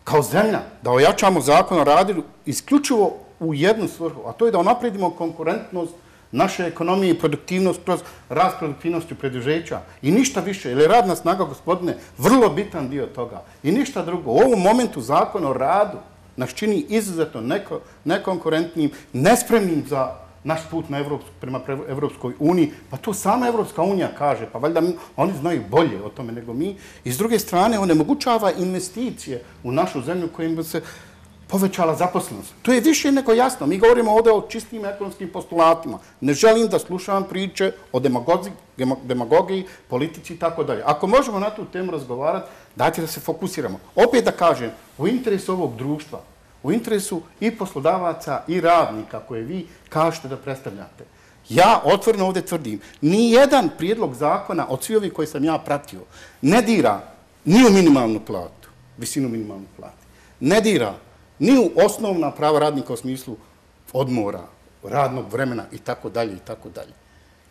kao zemlja da ojačamo Zakon o radu isključivo u jednu svrhu, a to je da unapredimo konkurentnost naše ekonomije i produktivnost kroz rast produktivnosti preduzeća. I ništa više, jer je radna snaga, gospodine, vrlo bitan dio toga. I ništa drugo. U ovom momentu Zakon o radu nas čini izuzetno neko, nekonkurentnim, nespremnim za naš put na Evropsku, prema Evropskoj uniji. Pa to sama Evropska unija kaže, pa valjda mi, oni znaju bolje o tome nego mi. I s druge strane, onemogućava investicije u našu zemlju kojim bi se povećala zaposlenost. To je više nego jasno. Mi govorimo ovdje o čistim ekonomskim postulatima. Ne želim da slušam priče o demagogiji, politici i tako dalje. Ako možemo na tu temu razgovarati, dajte da se fokusiramo. Opet da kažem, u interesu ovog društva, u interesu i poslodavaca i radnika koje vi kažete da predstavljate. Ja otvoreno ovdje tvrdim, ni jedan prijedlog zakona od svi ovih koji sam ja pratio ne dira ni u minimalnu platu, visinu minimalne plate. Ne dira ni u osnovna prava radnika u smislu odmora, radnog vremena i tako dalje i tako dalje.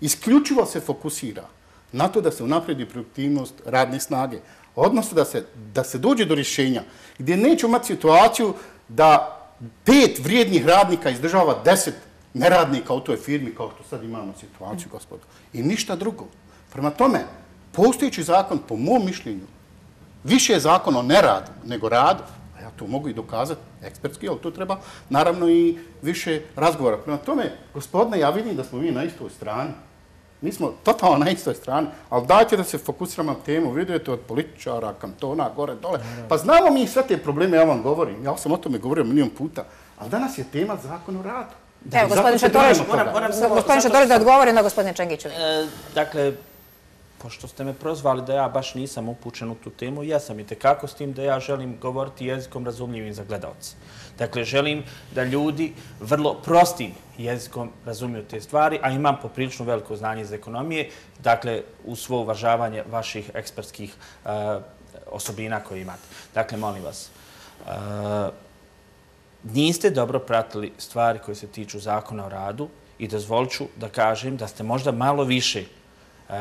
Isključivo se fokusira na to da se unapredi produktivnost radne snage, odnosno da se, da se dođe do rješenja gdje neće imati situaciju da pet vrijednih radnika izdržava deset neradnika u toj firmi kao što sad imamo situaciju, gospodo. I ništa drugo. Prema tome, postojeći zakon, po mom mišljenju, više je zakon o neradu nego radu. Ja to mogu i dokazati ekspertski, ali to treba naravno i više razgovora. Prema tome, gospodine, ja vidim da smo mi na istoj strani. Mi smo totalno na istoj strani, ali dajte da se fokusiramo na temu. Vidite od političara, kantona, gore, dole. Pa znamo mi sve te probleme, ja vam govorim. Ja sam o tome govorio milijon puta. Ali danas je tema Zakon o radu. Evo, gospodin Šatorović, gospodin Šatorović da odgovori na gospodine Čengiću. Dakle, pošto ste me prozvali da ja baš nisam upućen u tu temu, ja sam i tekako s tim da ja želim govoriti jezikom razumljivim za gledalce. Dakle, želim da ljudi vrlo prostim jezikom razumiju te stvari, a imam poprilično veliko znanje iz ekonomije, dakle, u svo uvažavanje vaših ekspertskih uh, osobina koje imate. Dakle, molim vas, uh, niste dobro pratili stvari koje se tiču Zakona o radu i dozvolit ću da kažem da ste možda malo više uh,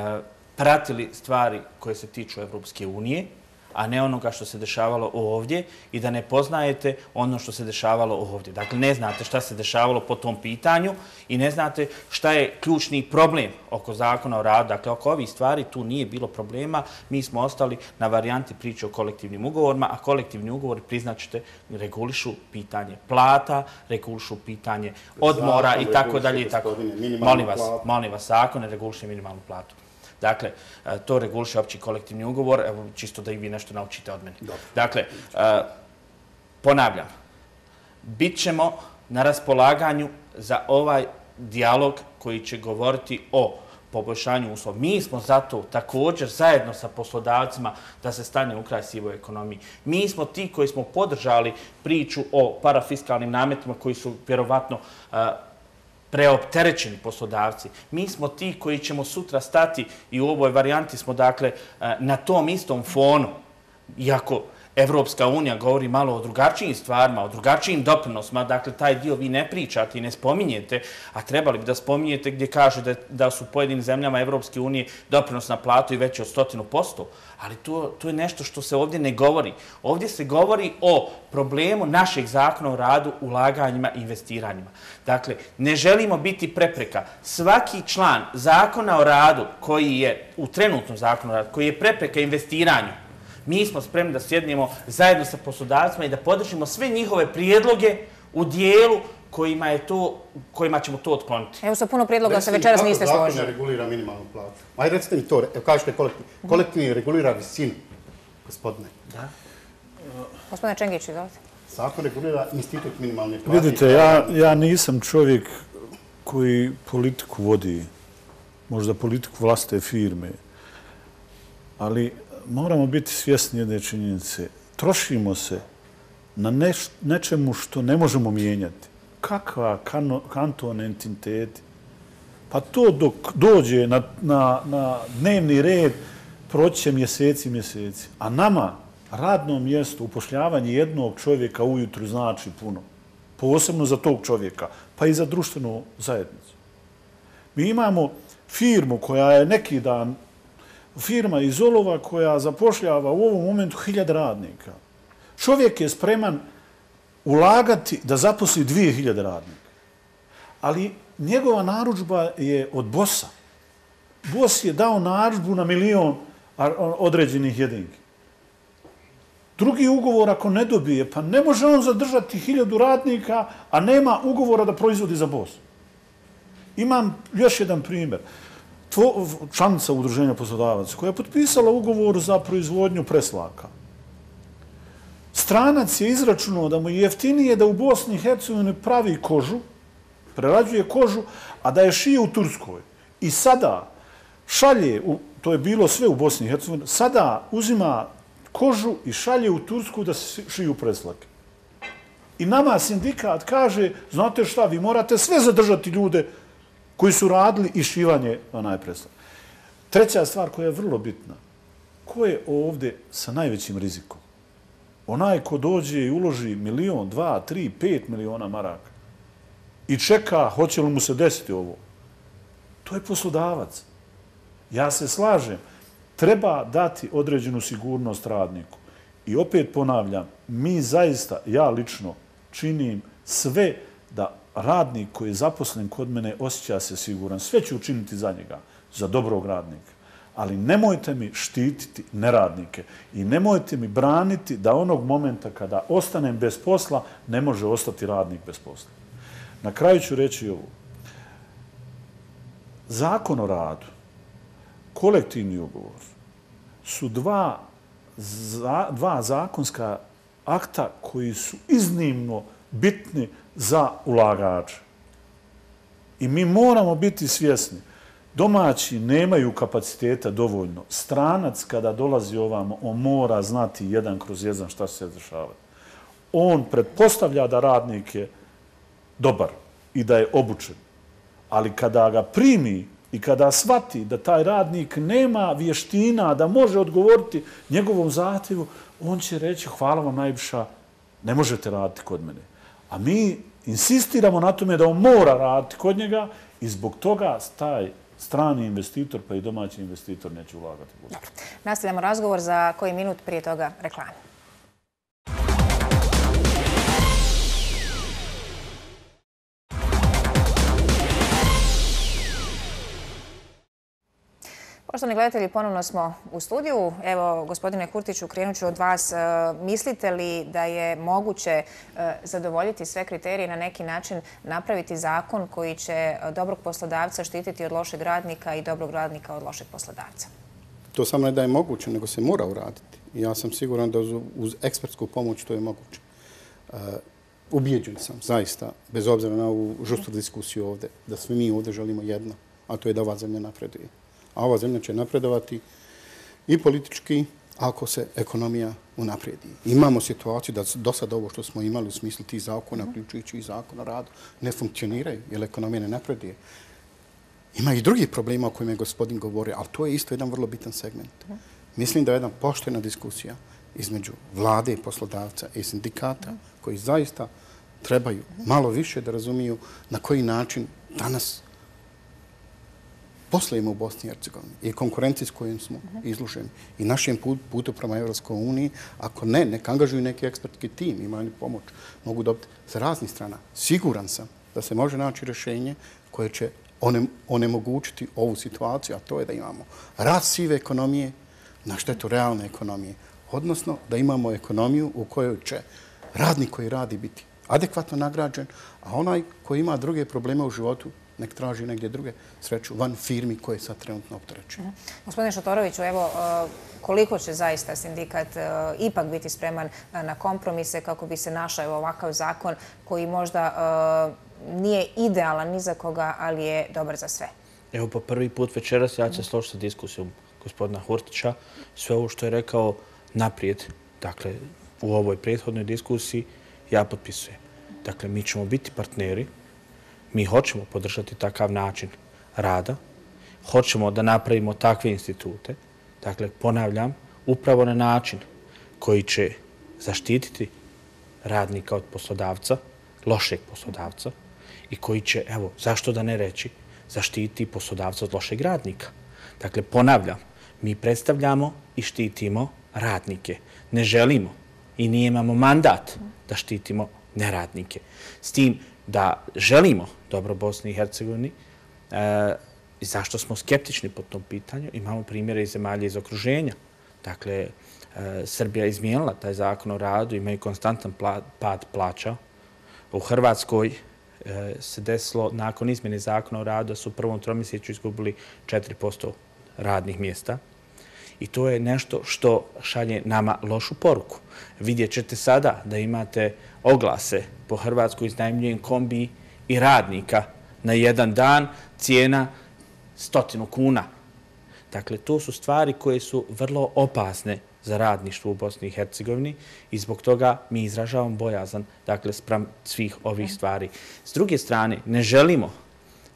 pratili stvari koje se tiču Evropske unije, a ne onoga što se dešavalo ovdje i da ne poznajete ono što se dešavalo ovdje. Dakle, ne znate šta se dešavalo po tom pitanju i ne znate šta je ključni problem oko Zakona o radu. Dakle, oko ovih stvari tu nije bilo problema. Mi smo ostali na varijanti priče o kolektivnim ugovorima, a kolektivni ugovori, priznaćete, regulišu pitanje plata, regulišu pitanje odmora i tako dalje. Molim vas, molim vas, zakon ne reguliše minimalnu platu. Dakle, to reguliše opći kolektivni ugovor, evo, čisto da i vi nešto naučite od mene. Dakle, ponavljam, bit ćemo na raspolaganju za ovaj dijalog koji će govoriti o poboljšanju uslova. Mi smo zato također zajedno sa poslodavcima da se stane u kraj sivoj ekonomiji. Mi smo ti koji smo podržali priču o parafiskalnim nametima koji su vjerovatno preopterećeni poslodavci. Mi smo ti koji ćemo sutra stati i u ovoj varijanti smo dakle na tom istom fonu, iako Evropska unija govori malo o drugačijim stvarima, o drugačijim doprinosima, dakle taj dio vi ne pričate i ne spominjete, a trebali bi da spominjete gdje kaže da, da su pojedinim zemljama Evropske unije doprinos na platu i veći od stotinu posto, ali to, to je nešto što se ovdje ne govori. Ovdje se govori o problemu našeg zakona o radu, ulaganjima i investiranjima. Dakle, ne želimo biti prepreka. Svaki član zakona o radu koji je u trenutnom zakonu o radu, koji je prepreka investiranju, mi smo spremni da sjednemo zajedno sa poslodavcima i da podržimo sve njihove prijedloge u dijelu kojima, je to, kojima ćemo to otkloniti. Evo sa puno prijedloga se večeras niste složili. Zakon ne regulira minimalnu platu? Ajde, recite mi to, evo kažete kolektivni. Kolektivni regulira visinu, gospodine. Da. Gospodine Čengić, izvolite. Zakon regulira institut minimalne plate. Vidite, ja, ja nisam čovjek koji politiku vodi, možda politiku vlastite firme, ali moramo biti svjesni jedne činjenice. trošimo se na neš, nečemu što ne možemo mijenjati. Kakva kano, kanton entiteti? Pa to dok dođe na, na, na dnevni red, proći će mjeseci, mjeseci. A nama radno mjesto, upošljavanje jednog čovjeka ujutru znači puno. Posebno za tog čovjeka, pa i za društvenu zajednicu. Mi imamo firmu koja je neki dan, firma iz Olova koja zapošljava u ovom momentu hiljade radnika. Čovjek je spreman ulagati da zaposli dvije hiljade radnika. Ali njegova narudžba je od bosa. Bos je dao narudžbu na milion određenih jedinki. Drugi ugovor ako ne dobije, pa ne može on zadržati hiljadu radnika, a nema ugovora da proizvodi za bos. Imam još jedan primjer. Tvo, članica Udruženja poslodavaca koja je potpisala ugovor za proizvodnju preslaka. Stranac je izračunao da mu je jeftinije da u Bosni i Hercegovini pravi kožu, prerađuje kožu, a da je šije u Turskoj. I sada šalje, u, to je bilo sve u Bosni i Hercegovini, sada uzima kožu i šalje u Tursku da se šiju preslake. I nama sindikat kaže, znate šta, vi morate sve zadržati ljude koji su radili i šivanje onaj preslak. Treća stvar koja je vrlo bitna, ko je ovdje sa najvećim rizikom? Onaj ko dođe i uloži milion, dva, tri, pet miliona maraka i čeka hoće li mu se desiti ovo. To je poslodavac. Ja se slažem. Treba dati određenu sigurnost radniku. I opet ponavljam, mi zaista, ja lično, činim sve da radnik koji je zaposlen kod mene osjeća se siguran. Sve ću učiniti za njega, za dobrog radnika. Ali nemojte mi štititi neradnike i nemojte mi braniti da onog momenta kada ostanem bez posla, ne može ostati radnik bez posla. Na kraju ću reći ovo. Zakon o radu, kolektivni ugovor su dva, za, dva zakonska akta koji su iznimno bitni za ulagače. I mi moramo biti svjesni. Domaći nemaju kapaciteta dovoljno. Stranac kada dolazi ovamo, on mora znati jedan kroz jedan šta se dešava. On pretpostavlja da radnik je dobar i da je obučen. Ali kada ga primi i kada shvati da taj radnik nema vještina, da može odgovoriti njegovom zahtjevu, on će reći hvala vam najviša, ne možete raditi kod mene. A mi insistiramo na tome da on mora raditi kod njega i zbog toga taj strani investitor pa i domaći investitor neće ulagati. Dobro. Nastavljamo razgovor za koji minut prije toga reklame. Poštovani gledatelji, ponovno smo u studiju. Evo, gospodine Kurtiću, krenut ću od vas. Mislite li da je moguće zadovoljiti sve kriterije, na neki način napraviti zakon koji će dobrog poslodavca štititi od lošeg radnika i dobrog radnika od lošeg poslodavca? To samo ne da je moguće, nego se mora uraditi. Ja sam siguran da uz ekspertsku pomoć to je moguće. Ubijeđen sam, zaista, bez obzira na ovu žustru diskusiju ovdje, da svi mi ovdje želimo jedno, a to je da ova zemlja napreduje. A ova zemlja će napredovati i politički ako se ekonomija unaprijedi. Imamo situaciju da do sada ovo što smo imali u smislu tih zakona, uključujući i zakon o radu, ne funkcioniraju jer ekonomija ne napreduje. Ima i drugih problema o kojima je gospodin govorio, ali to je isto jedan vrlo bitan segment. Mislim da je jedna poštena diskusija između vlade i poslodavca i sindikata koji zaista trebaju malo više da razumiju na koji način danas poslujemo u Bosni i Hercegovini i konkurenciji s kojim smo izloženi i našem putu prema Evropskoj uniji, ako ne, nek angažuju neki ekspertski tim, imaju pomoć, mogu dobiti sa raznih strana. Siguran sam da se može naći rješenje koje će onemogućiti ovu situaciju, a to je da imamo rast sive ekonomije na štetu realne ekonomije, odnosno da imamo ekonomiju u kojoj će radnik koji radi biti adekvatno nagrađen, a onaj koji ima druge probleme u životu nek traži negdje druge sreću van firmi koje sad trenutno opterećuju. Gospodine Šotoroviću, evo, koliko će zaista sindikat ipak biti spreman na kompromise kako bi se našao ovakav zakon koji možda nije idealan ni za koga, ali je dobar za sve? Evo, po prvi put večeras ja ću se složiti sa diskusijom gospodina Hurtića. Sve ovo što je rekao naprijed, dakle, u ovoj prethodnoj diskusiji, ja potpisujem. Dakle, mi ćemo biti partneri, mi hoćemo podržati takav način rada, hoćemo da napravimo takve institute, dakle, ponavljam, upravo na način koji će zaštititi radnika od poslodavca, lošeg poslodavca, i koji će, evo, zašto da ne reći, zaštiti poslodavca od lošeg radnika. Dakle, ponavljam, mi predstavljamo i štitimo radnike. Ne želimo i nije imamo mandat da štitimo neradnike. S tim da želimo dobro Bosni i Hercegovini, e, zašto smo skeptični po tom pitanju, imamo primjere iz zemalja iz okruženja. Dakle, e, Srbija je izmijenila taj zakon o radu, imaju konstantan pla, pad plaća. U Hrvatskoj e, se desilo, nakon izmjene zakona o radu, da su u prvom tromjesečju izgubili četiri posto radnih mjesta. I to je nešto što šalje nama lošu poruku. Vidjet ćete sada da imate oglase po Hrvatskoj, iznajmljujem kombi i radnika na jedan dan, cijena stotinu kuna. Dakle, to su stvari koje su vrlo opasne za radništvo u Bosni i Hercegovini i zbog toga mi izražavamo bojazan, dakle, spram svih ovih stvari. S druge strane, ne želimo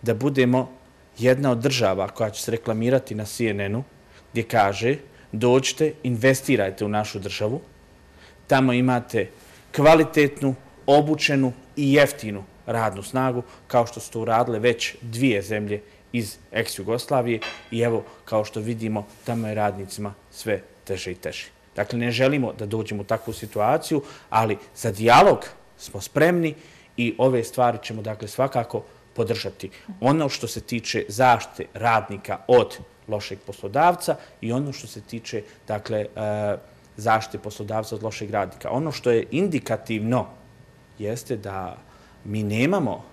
da budemo jedna od država koja će se reklamirati na C N N-u, gdje kaže dođite, investirajte u našu državu, tamo imate kvalitetnu, obučenu i jeftinu radnu snagu, kao što su to uradile već dvije zemlje iz ex-Jugoslavije i evo, kao što vidimo, tamo je radnicima sve teže i teže. Dakle, ne želimo da dođemo u takvu situaciju, ali za dijalog smo spremni i ove stvari ćemo, dakle, svakako podržati. Ono što se tiče zaštite radnika od lošeg poslodavca i ono što se tiče, dakle, zaštite poslodavca od lošeg radnika. Ono što je indikativno jeste da mi nemamo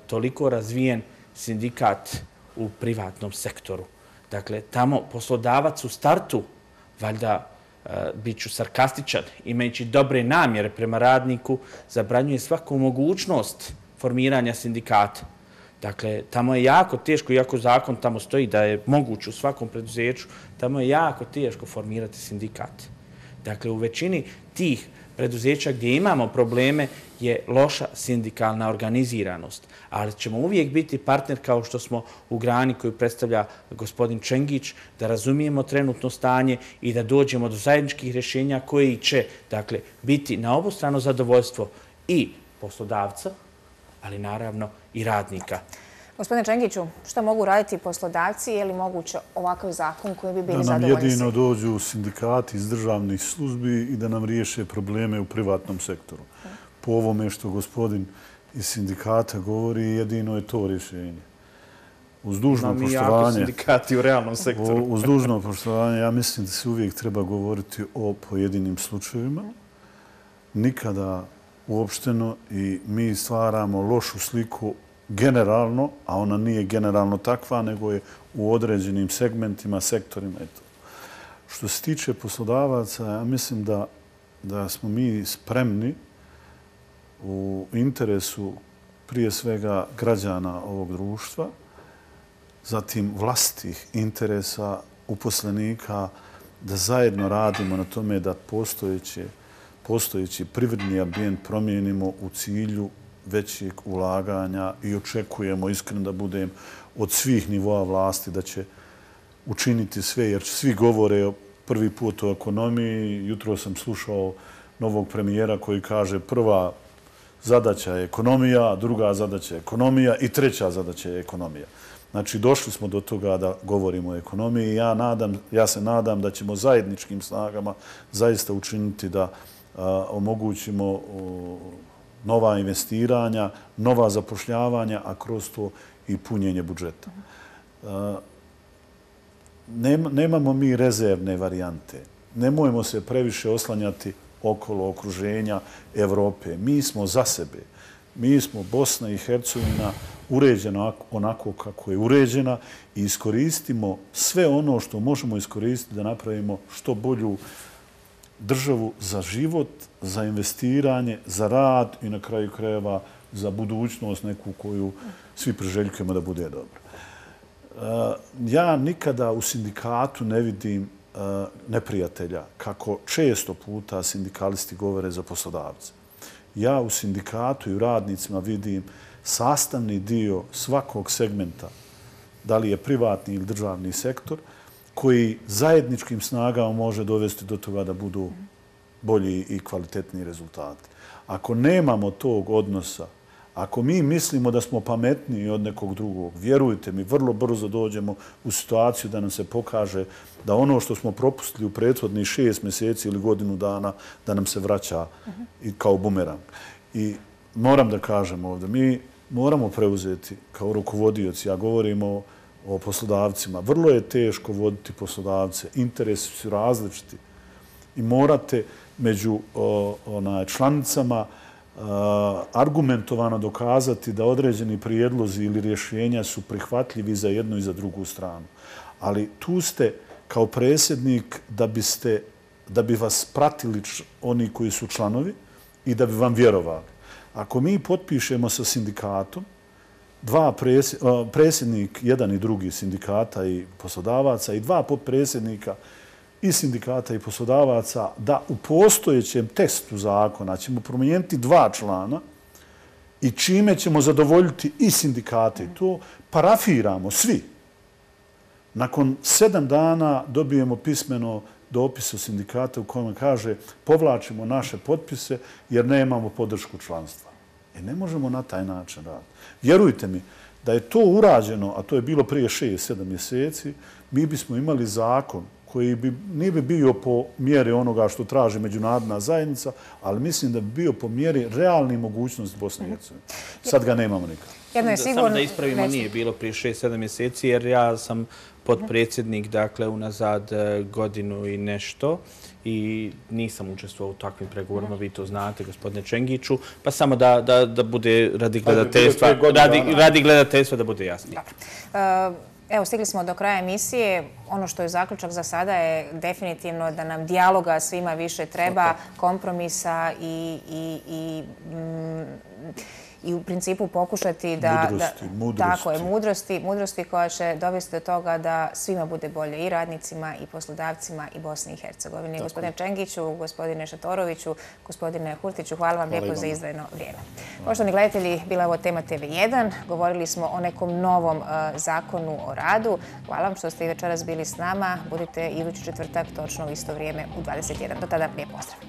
toliko razvijen sindikat u privatnom sektoru. Dakle, tamo poslodavac u startu, valjda bit ću sarkastičan, imajući dobre namjere prema radniku, zabranjuje svaku mogućnost formiranja sindikata. Dakle, tamo je jako teško, iako zakon tamo stoji da je moguće u svakom preduzeću, tamo je jako teško formirati sindikat. Dakle, u većini tih preduzeća gdje imamo probleme je loša sindikalna organiziranost. Ali ćemo uvijek biti partner kao što smo u grani koju predstavlja gospodin Čengić, da razumijemo trenutno stanje i da dođemo do zajedničkih rješenja koji će, dakle, biti na obostrano zadovoljstvo i poslodavca, ali naravno i radnika. Gospodine Čengiću, šta mogu raditi poslodavci? Je li moguće ovakav zakon koji bi bili zadovoljni? Da nam zadovoljni? jedino dođu sindikati iz državnih službi i da nam riješe probleme u privatnom sektoru. Po ovome što gospodin iz sindikata govori, jedino je to rješenje. Uz dužno poštovanje, sindikati u realnom sektoru. Uz dužno poštovanje, ja mislim da se uvijek treba govoriti o pojedinim slučajevima. Nikada uopšteno i mi stvaramo lošu sliku generalno, a ona nije generalno takva, nego je u određenim segmentima, sektorima. Eto. Što se tiče poslodavaca, ja mislim da, da smo mi spremni u interesu prije svega građana ovog društva, zatim vlastitih interesa uposlenika, da zajedno radimo na tome da postojeće, postojeći privredni ambijent promijenimo u cilju većeg ulaganja i očekujemo, iskreno da budem, od svih nivoa vlasti da će učiniti sve, jer svi govore prvi put o ekonomiji. Jutro sam slušao novog premijera koji kaže prva zadaća je ekonomija, druga zadaća je ekonomija i treća zadaća je ekonomija. Znači, došli smo do toga da govorimo o ekonomiji. Ja, nadam, ja se nadam da ćemo zajedničkim snagama zaista učiniti da a, omogućimo a, nova investiranja, nova zapošljavanja, a kroz to i punjenje budžeta. A, nema, nemamo mi rezervne varijante. Nemojmo se previše oslanjati okolo okruženja Evrope. Mi smo za sebe. Mi smo Bosna i Hercegovina uređena onako kako je uređena i iskoristimo sve ono što možemo iskoristiti da napravimo što bolju državu za život, za investiranje, za rad i na kraju krajeva za budućnost neku koju svi priželjkujemo da bude dobro. Ja nikada u sindikatu ne vidim neprijatelja, kako često puta sindikalisti govore za poslodavce. Ja u sindikatu i u radnicima vidim sastavni dio svakog segmenta, da li je privatni ili državni sektor, koji zajedničkim snagama može dovesti do toga da budu bolji i kvalitetniji rezultati. Ako nemamo tog odnosa, ako mi mislimo da smo pametniji od nekog drugog, vjerujte mi, vrlo brzo dođemo u situaciju da nam se pokaže da ono što smo propustili u prethodnih šest mjeseci ili godinu dana, da nam se vraća i kao bumerang. I moram da kažem ovdje, mi moramo preuzeti kao rukovodioci, ja govorim o, o poslodavcima, vrlo je teško voditi poslodavce, interesi su različiti i morate među o, onaj, članicama argumentovano dokazati da određeni prijedlozi ili rješenja su prihvatljivi za jednu i za drugu stranu. Ali tu ste kao predsjednik da biste, da bi vas pratili oni koji su članovi i da bi vam vjerovali. Ako mi potpišemo sa sindikatom, dva predsjednik, jedan i drugi sindikata i poslodavaca i dva potpredsjednika i sindikata i poslodavaca, da u postojećem tekstu zakona ćemo promijeniti dva člana i čime ćemo zadovoljiti i sindikate. To parafiramo svi. Nakon sedam dana dobijemo pismeno dopis od sindikata u kojem kaže povlačimo naše potpise jer nemamo podršku članstva. E ne možemo na taj način raditi. Vjerujte mi, da je to urađeno, a to je bilo prije šest, sedam mjeseci, mi bismo imali zakon koji bi, nije bi bio po mjeri onoga što traži međunarodna zajednica, ali mislim da bi bio po mjeri realnih mogućnosti Bosne i Hercegovine. Sad ga nemamo nikad. Jedno je sigurno... Samo da ispravimo, nije bilo prije šest, sedam mjeseci, jer ja sam potpredsjednik, dakle, unazad godinu i nešto i nisam učestvovao u takvim pregovorima, vi to znate, gospodine Čengiću, pa samo da, da, da bude radi gledateljstva, radi, radi gledateljstva da bude jasnije. Evo, stigli smo do kraja emisije. Ono što je zaključak za sada je definitivno da nam dijaloga svima više treba, kompromisa i, i, i, mm, i u principu pokušati da... Mudrosti, da, mudrosti. Tako je, mudrosti, mudrosti koja će dovesti do toga da svima bude bolje, i radnicima, i poslodavcima, i Bosni i Hercegovini. Tako. Gospodine Čengiću, gospodine Šatoroviću, gospodine Hurtiću, hvala vam hvala lijepo za izdvojeno vrijeme. Poštovani gledatelji, bila je ovo tema T V jedan. Govorili smo o nekom novom uh, zakonu o radu. Hvala vam što ste i večeras bili s nama. Budite idući četvrtak, točno u isto vrijeme u dvadeset jedan. Do tada, lijep pozdrav.